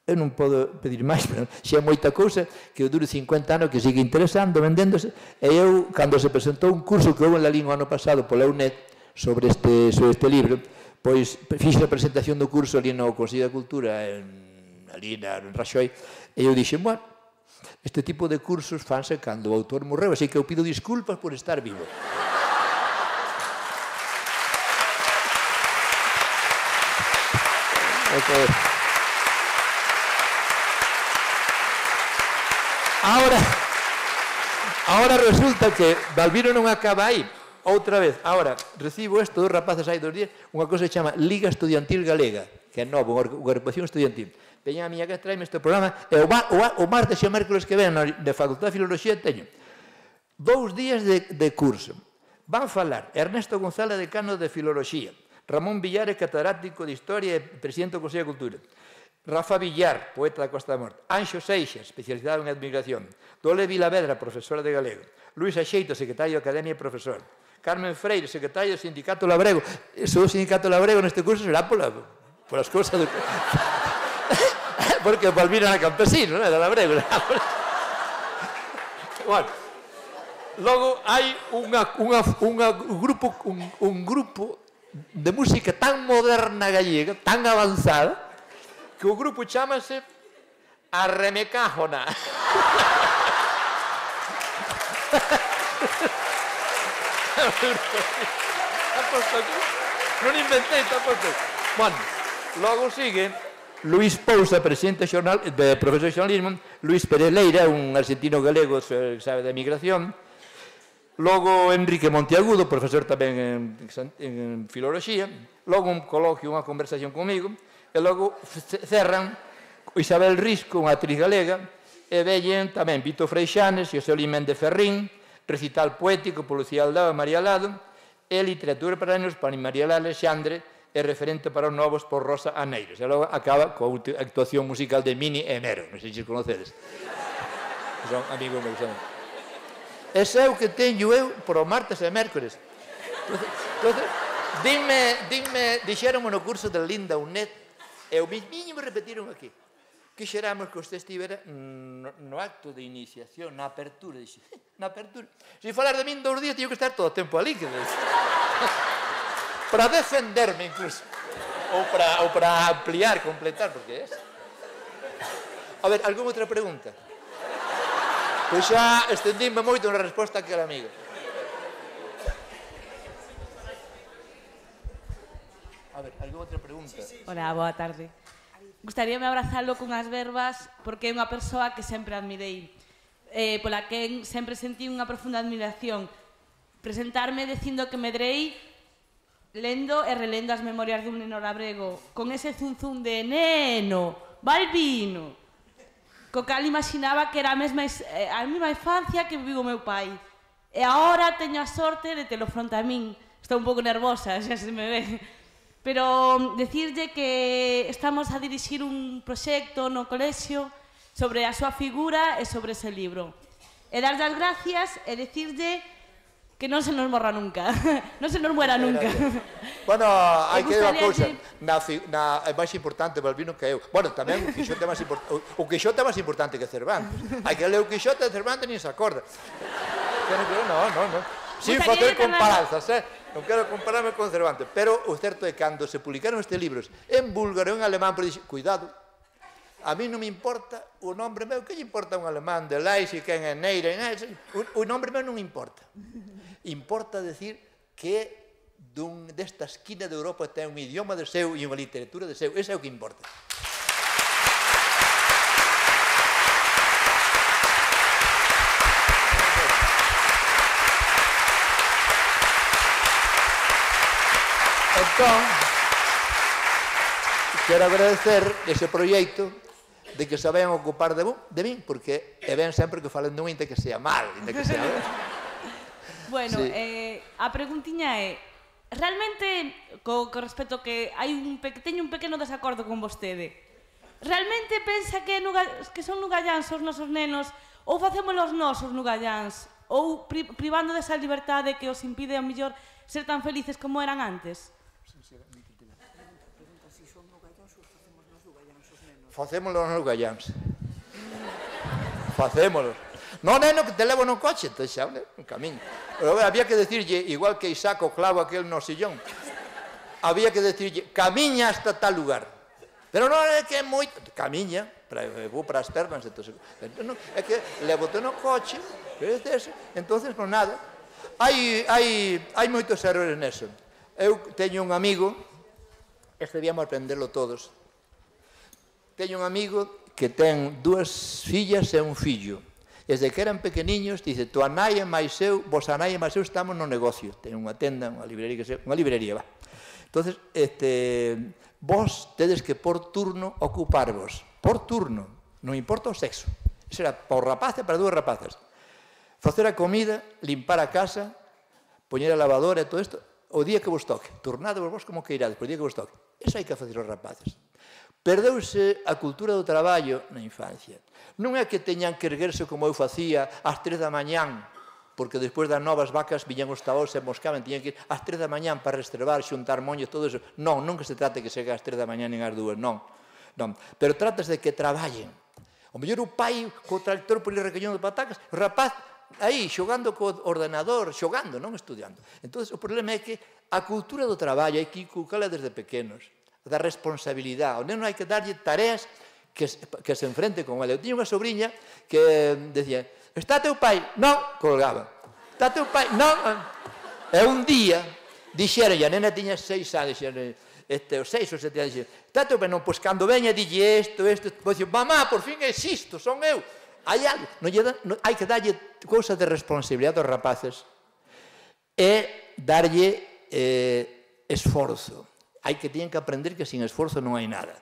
eu non podo pedir máis, pero xa é moita cousa que dure cincuenta anos, que sigue interesando, vendéndose, e eu, cando se presentou un curso que houve en la lingua ano pasado pola U N E D, sobre este, sobre este libro, pois fixe a presentación do curso ali no Consello da Cultura, en, ali na, en Raxoi, e eu dixen, bueno, este tipo de cursos fanse cando o autor morreu, así que eu pido disculpas por estar vivo. Okay. Ahora, ahora resulta que Balbino non acaba aí. Outra vez, ahora, recibo isto dos rapaces hai dos días, unha cosa que se chama Liga Estudiantil Galega, que é novo, unha agrupación estudiantil. Veña a miña que traeme este programa, e o, o, o martes e o mércoles que ven de Facultade de Filoloxía teño dous días de, de curso. Van falar Ernesto González, decano de Filoloxía, Ramón Villares, catedrático de Historia e presidente do Consello de Cultura, Rafa Villar, poeta da Costa da Morte, Anxo Seixas, especializado en admigración, Dole Vilavedra, profesora de galego, Luis Axeito, secretario de Academia e profesor, Carmen Freire, secretario do Sindicato Labrego. Eso do Sindicato Labrego neste curso será pola, polas cousas do... porque o Palmira era campesino, non era Labrego. Bueno, logo hai unha, unha, unha grupo, un, un grupo de música tan moderna gallega, tan avanzada, que o grupo chamase Arremecájona. Non inventei, está posto. Bueno, logo sigue Luís Pousa, presidente de profesor de xornalismo, Luís Pérez Leira, un argentino galego que sabe de emigración, logo Enrique Monteagudo, profesor tamén en, en filoloxía, logo un coloquio, unha conversación comigo, e logo cerran Isabel Risco, unha actriz galega, e veñen tamén Vito Freixanes, Xosé Méndez Ferrín, recital poético por Lucía Aldao e María Lado, e literatura para nenos para María Alexandre, e referente para os novos por Rosa Aneiros. E logo acaba coa actuación musical de Mini e Nero, non sei se conocedes. Son amigos meus. Ese é o que teño eu por o martes e mércores. Entón, dime, dime, dixeronme no curso de Linda Unet, e o mismiño me repetiron aquí. Quixeramos que usted estivera no, no acto de iniciación, na apertura. Dixe, na apertura. Se falar de min dous días, teño que estar todo o tempo ali. Que para defenderme, incluso. Ou para, ou para ampliar, completar, porque é eso. A ver, algunha outra pregunta? Pois xa estendíme moito na resposta a aquela amiga. A ver, algunha outra pregunta? Hola, boa tarde. Gustaríame abrazalo cunhas verbas porque é unha persoa que sempre admirei, eh, pola que sempre sentí unha profunda admiración. Presentarme dicindo que medrei lendo e relendo as memorias dun neno labrego, con ese zunzún de neno, Balbino, co cal imaginaba que era a mesma, a mesma infancia que viviu o meu pai. E agora teño a sorte de telo fronte a min. Estou un pouco nervosa, xa se me ve. Pero decirlle que estamos a dirixir un proxecto no colexio sobre a súa figura e sobre ese libro. E darlle as gracias e decirlle que non se nos morra nunca, non se nos muera nunca. Bueno, hai que ver unha cousa, é máis importante Balbino que eu. Bueno, tamén o Quixote é máis importante, o Quixote é máis importante que Cervantes. Hai que ler o Quixote de Cervantes nin se acorda. Non, non, non. Sin facer comparanzas, eh? Non quero compararme con Cervantes, pero o certo é que cando se publicaron estes libros en búlgaro e en alemán, pero dixen, cuidado, a mí non me importa o nombre meu, que lle importa un alemán de Leipzig, quen é Neira, o nombre meu non importa. Importa decir que desta esquina de Europa ten un idioma de seu e unha literatura de seu. Ese é o que importa. Entón, quero agradecer ese proxecto de que se vayan ocupar de, de min, porque é ben sempre que falen dun inte que sea mal, inte que sea ben. Bueno, sí. eh, a preguntiña é, realmente, co, co respecto que hai un pe, teño un pequeno desacordo con vostede, realmente pensa que, nuga, que son nugalláns os nosos nenos, ou facemos os nosos nugalláns, ou pri, privando desa liberdade que os impide, a mellor, ser tan felices como eran antes? Facémoslo nos nugalláns. Facémoslo. No, neno, que te levo no coche, te xa, un camiño. Pero había que decirlle, igual que Isaac o clavo aquel no sillón, había que decirlle, camiña hasta tal lugar. Pero non é que é moito, camiña, vou para as pernas, é que levo-te no coche, entonces, non nada. Hai, hai, hai moitos errores neso. Eu teño un amigo, este debíamos aprenderlo todos, teño un amigo que ten dúas fillas e un fillo. Desde que eran pequeniños, dice, tua nai e máis eu, vos a nai e máis eu estamos no negocio. Ten unha tenda, unha librería, que se, unha librería, va. Entonces, este, vos tedes que por turno ocuparvos. Por turno, non importa o sexo. Eso era para o rapaz e para dúas rapazas. Facer a comida, limpar a casa, poñer a lavadora e todo isto, o día que vos toque. Turnade vos como que irades, o día que vos toque. Eso hai que facer os rapaces. Perdeuse a cultura do traballo na infancia. Non é que teñan que erguerse como eu facía ás tres da mañán, porque despois das novas vacas viñan os tabaos e moscaban, teñan que ir ás tres da mañán para restrebar, xuntar moños, todo eso. Non, non que se trate que segue ás tres da mañán nin ás dúas, non. non. Pero tratas de que traballen. O mellor o pai co tractor por ir recollendo patacas, o rapaz aí xogando co ordenador, xogando, non estudiando. Entón, o problema é que a cultura do traballo hai que inculcala desde pequenos, da responsabilidade. O neno hai que darlle tareas que, que se enfrente con ela. Eu tiña unha sobrinha que decía, está teu pai? Non, colgaba. Está teu pai? Non. E un día, dixeron, e a nena tiña seis anos, dixeron, este, os seis ou sete anos, tato, pero non, pois cando veña dille isto, isto, pois digo, mamá, por fin existo, son eu. Hai algo, non lle da, non, hai que darlle cousa de responsabilidade aos rapaces e darlle eh, esforzo. Hai que tienen que aprender que sin esforzo non hai nada.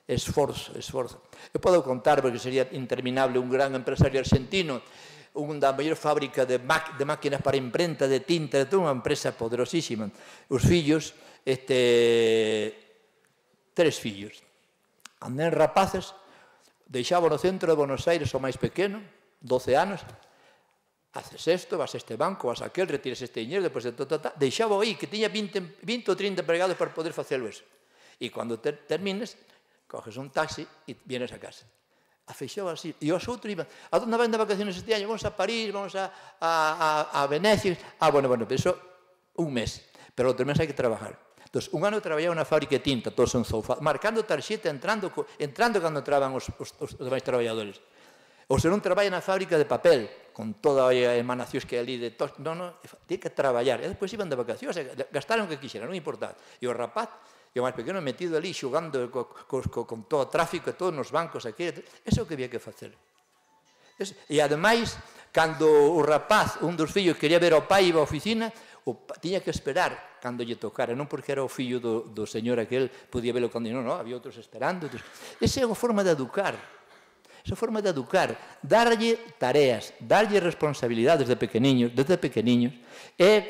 Esforzo, esforzo. Eu podo contar, porque sería interminable, un gran empresario argentino, un da maior fábrica de, de máquinas para imprenta, de tinta, de toda unha empresa poderosísima. Os fillos, este, tres fillos. Andan rapaces, deixaba no centro de Buenos Aires o máis pequeno, doce anos, haces isto, vas a este banco, vas a aquel, retiras este dinero, depois de todo, deixaba aí, que tiña vinte ou trinta empregados para poder facelo eso. E cando ter, termines, coges un taxi e vienes a casa. A feixou así. E os outros iban, a donde van de vacaciones este año? Vamos a París, vamos a, a, a, a Venecia. Ah, bueno, bueno, pero eso un mes. Pero outro mes hai que trabajar. Entón, un ano traballaba na fábrica de tinta, todos son zoufados, marcando tarxeta, entrando, entrando cando entraban os, os, os demais traballadores. Ou se non traballa na fábrica de papel, con toda a emanacións que hai ali de tos, non, non, tiene que traballar. E despois iban de vacacións, gastaron o que quixeran, non importa. E o rapaz, e o máis pequeno metido ali, xogando co, co, co, con todo o tráfico, todos nos bancos aquí, eso é o que había que facer. E ademais, cando o rapaz, un dos fillos, quería ver ao pai e iba á oficina, o tiña que esperar cando lle tocara, non porque era o fillo do, do señor aquel, podía verlo cando non, non, había outros esperando. Esa é unha forma de educar, esa forma de educar, darlle tareas, darlle responsabilidades de pequeniños, desde pequeniños, e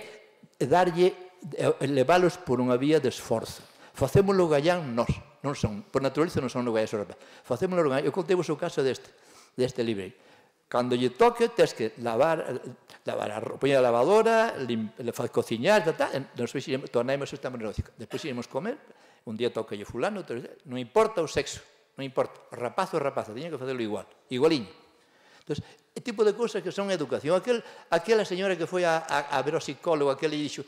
darlle, leválos por unha vía de esforzo. Facémolo gallán nós, non son, por naturaleza non son no gallán, facémolo gallán. Eu contei vos o caso deste, deste libre. Cando lle toque, tens que lavar, lavar a roupa, poñer a lavadora, cociñar, tornamos esta negocio. Despois iremos comer, un día toca lle fulano, non importa o sexo, non importa, o rapaz ou rapaza, tiña que facelo igual, igualiño. Entón, e tipo de cousas que son educación. Aquel, aquela señora que foi a, a, a ver o psicólogo, aquel lle dixo,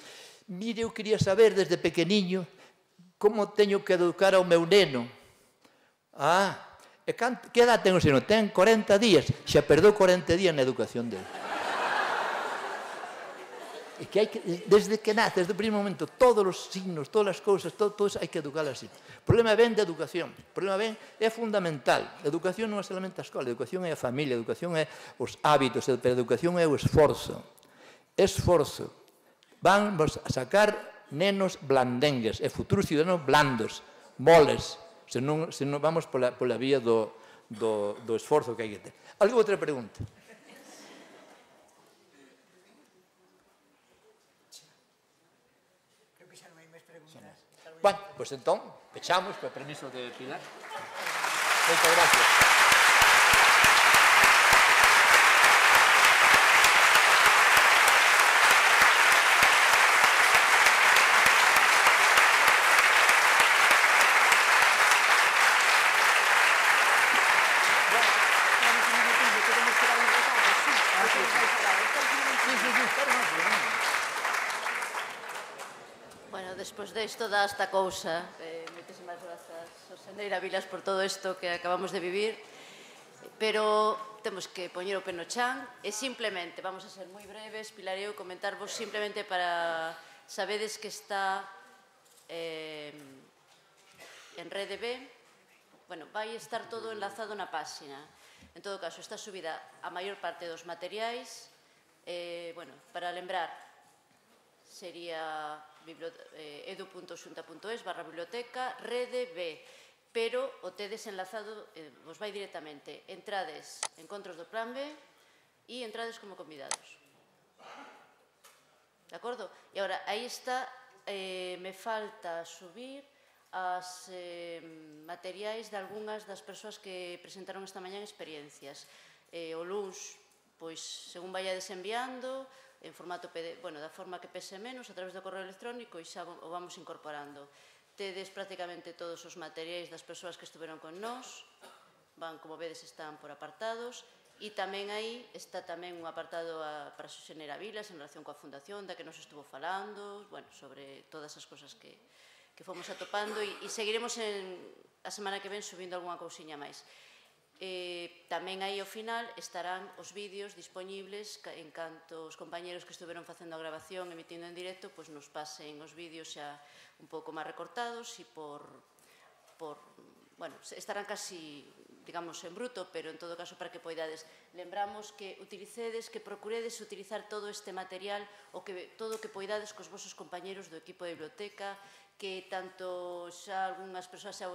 mire, eu quería saber desde pequeniño como teño que educar ao meu neno. Ah, e que edad ten o seno? Ten corenta días, xa perdeu corenta días na educación dele. E que hai que, desde que nace, desde o primeiro momento, todos os signos, todas as cousas, todo, todo hai que educar así. O problema ven de educación, o problema ven é fundamental. A educación non é solamente a escola, a educación é a familia, a educación é os hábitos, pero a educación é o esforzo. Esforzo. Vamos a sacar nenos blandengues, e futuros ciudadanos blandos, moles, se non, se non vamos pola, pola vía do, do, do esforzo que hai que ter. Algo outra pregunta? Creo que xa non hai máis preguntas. Bueno, pois entón, pechamos, con permiso de Pilar. Moitas gracias. Despois desto dá esta cousa, eh, moitísimas grazas, Soseneira Vilas, por todo isto que acabamos de vivir, pero temos que poñer o pé no chan e simplemente, vamos a ser moi breves, Pilar e eu comentarvos simplemente para sabedes que está eh, en Rede B, bueno, vai estar todo enlazado na páxina. En todo caso, está subida a maior parte dos materiais, eh, bueno, para lembrar, sería edu punto xunta punto es barra biblioteca Rede B, pero o tedes enlazado, eh, vos vai directamente, entrades encontros do plan B e entrades como convidados. De acordo? E agora, aí está, eh, me falta subir as eh, materiais de algunhas das persoas que presentaron esta mañá experiencias. Eh, o luns, pois, según vai desenviando, en formato P D F, bueno, da forma que pese menos, a través do correo electrónico, e xa o vamos incorporando. Tedes prácticamente todos os materiais das persoas que estuveron con nós, van, como vedes, están por apartados, e tamén aí está tamén un apartado a, para Soseneira Vilas en relación coa fundación, da que nos estuvo falando, bueno, sobre todas as cosas que, que fomos atopando, e, e seguiremos en, a semana que ven subindo algunha cousiña máis. Eh, tamén aí ao final estarán os vídeos dispoñibles en canto os compañeros que estuveron facendo a grabación, emitindo en directo, pois nos pasen os vídeos xa un pouco máis recortados e por, por, bueno, estarán casi, digamos, en bruto, pero en todo caso para que poidades. Lembramos que utilicedes, que procuredes utilizar todo este material, o que todo o que poidades cos vosos compañeros do equipo de biblioteca, que tanto xa algunhas persoas xa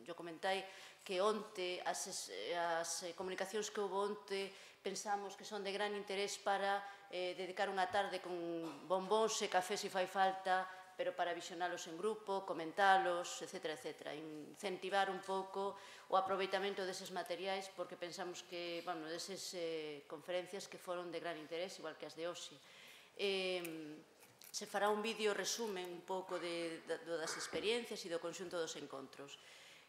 yo comentai, que onte as, as comunicacións que houve onte pensamos que son de gran interés para eh, dedicar unha tarde con bombóns e café se fai falta, pero para visionalos en grupo, comentalos, etcétera, etcétera. Incentivar un pouco o aproveitamento deses materiais, porque pensamos que, bueno, deses eh, conferencias que foron de gran interés, igual que as de hoxe. Eh, se fará un vídeo resumen un pouco de, de, das experiencias e do conxunto dos encontros.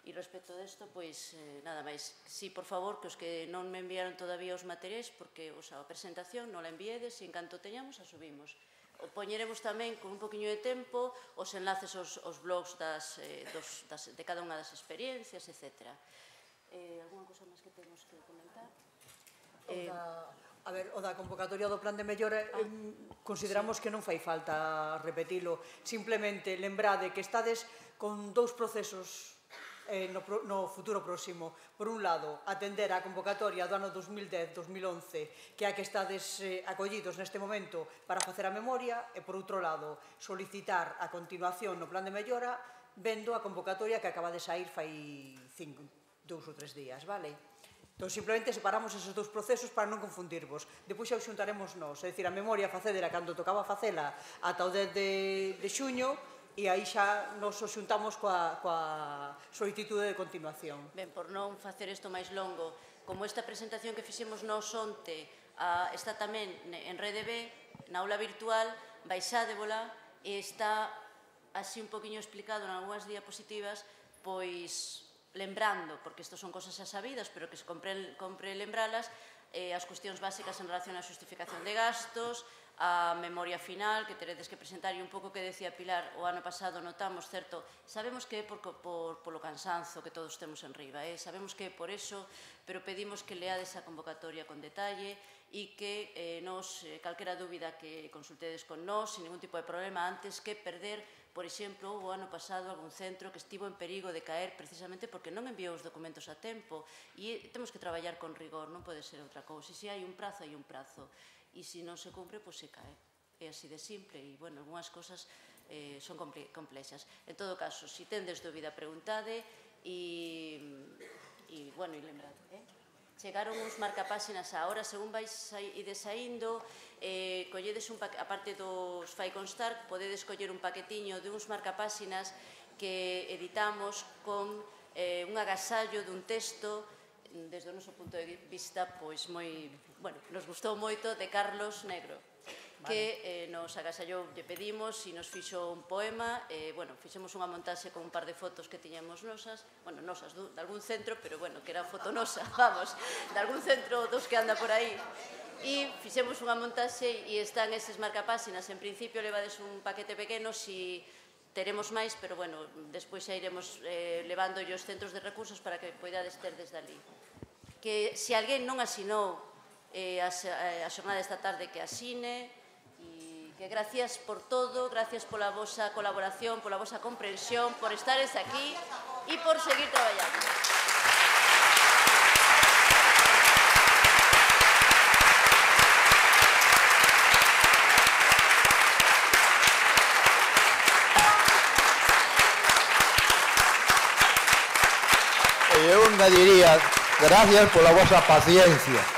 E respecto desto, pois, eh, nada máis. Si, por favor, que os que non me enviaron todavía os materiais, porque o sea, a presentación non la enviedes e en canto teñamos a subimos. O poñeremos tamén con un poquinho de tempo os enlaces aos, aos blogs das, eh, dos, das, de cada unha das experiencias, etcétera. Eh, alguna cosa máis que temos que comentar? Eh, a ver, o da convocatoria do plan de mellora, ah, eh, consideramos sí. que non fai falta repetilo. Simplemente lembrade que estades con dous procesos Eh, no, no futuro próximo. Por un lado, atender a convocatoria do ano dos mil dez dos mil once, que é a que estades eh, acollidos neste momento para facer a memoria, e por outro lado, solicitar a continuación no plan de mellora vendo a convocatoria que acaba de sair fai cinco, dous ou tres días, vale? Entón, simplemente separamos esos dous procesos para non confundirvos. Depois xa os xuntaremos nós, é dicir, a memoria facedera cando tocaba facela ata o dez de, de xuño, e aí xa nos os xuntamos coa, coa solicitude de continuación. Ben, por non facer isto máis longo, como esta presentación que fixemos nós onte a, está tamén en Rede B, na aula virtual, baixádebola e está así un poquinho explicado en algunhas diapositivas, pois lembrando, porque isto son cosas xa sabidas, pero que se compre, compre lembralas, eh, as cuestións básicas en relación á xustificación de gastos, a memoria final que teredes que presentar, e un pouco que decía Pilar, o ano pasado notamos, certo, sabemos que é por, por, polo cansanzo que todos temos en riba, eh? Sabemos que é por eso, pero pedimos que leades a convocatoria con detalle e que eh, nos, eh, calquera dúbida que consultedes con nós, sin ningún tipo de problema, antes que perder, por exemplo, o ano pasado algún centro que estivo en perigo de caer precisamente porque non enviou os documentos a tempo, e temos que traballar con rigor, non pode ser outra cousa, e se hai un prazo, hai un prazo. E se non se cumpre, pois se cae. É así de simple e, bueno, algunhas cosas eh, son complexas. En todo caso, se tendes dúbida, preguntade e, e bueno, e lembrade, eh? Chegaron uns marcapáxinas a hora, según vais ides saindo, eh, colledes un paquete, aparte dos fai constar, podedes coller un paquetiño de uns marcapáxinas que editamos con eh, un agasallo dun texto desde o noso punto de vista, pois moi, bueno, nos gustou moito, de Carlos Negro, vale, que eh, nos agasallou, lle pedimos e nos fixo un poema, e, eh, bueno, fixemos unha montaxe con un par de fotos que tiñamos nosas, bueno, nosas, de algún centro, pero, bueno, que era foto nosa, vamos, de algún centro dos que anda por aí, e fixemos unha montaxe e están eses marcapáxinas, en principio levades un paquete pequeno, si teremos máis, pero, bueno, despois xa iremos eh, levando os centros de recursos para que poidades ter desde ali. Que se alguén non asinou eh, a, a xornada esta tarde, que asine, e que gracias por todo, gracias pola vosa colaboración, pola vosa comprensión, por estares aquí e por seguir traballando. Eu engadiría, gracias pola vosa paciencia.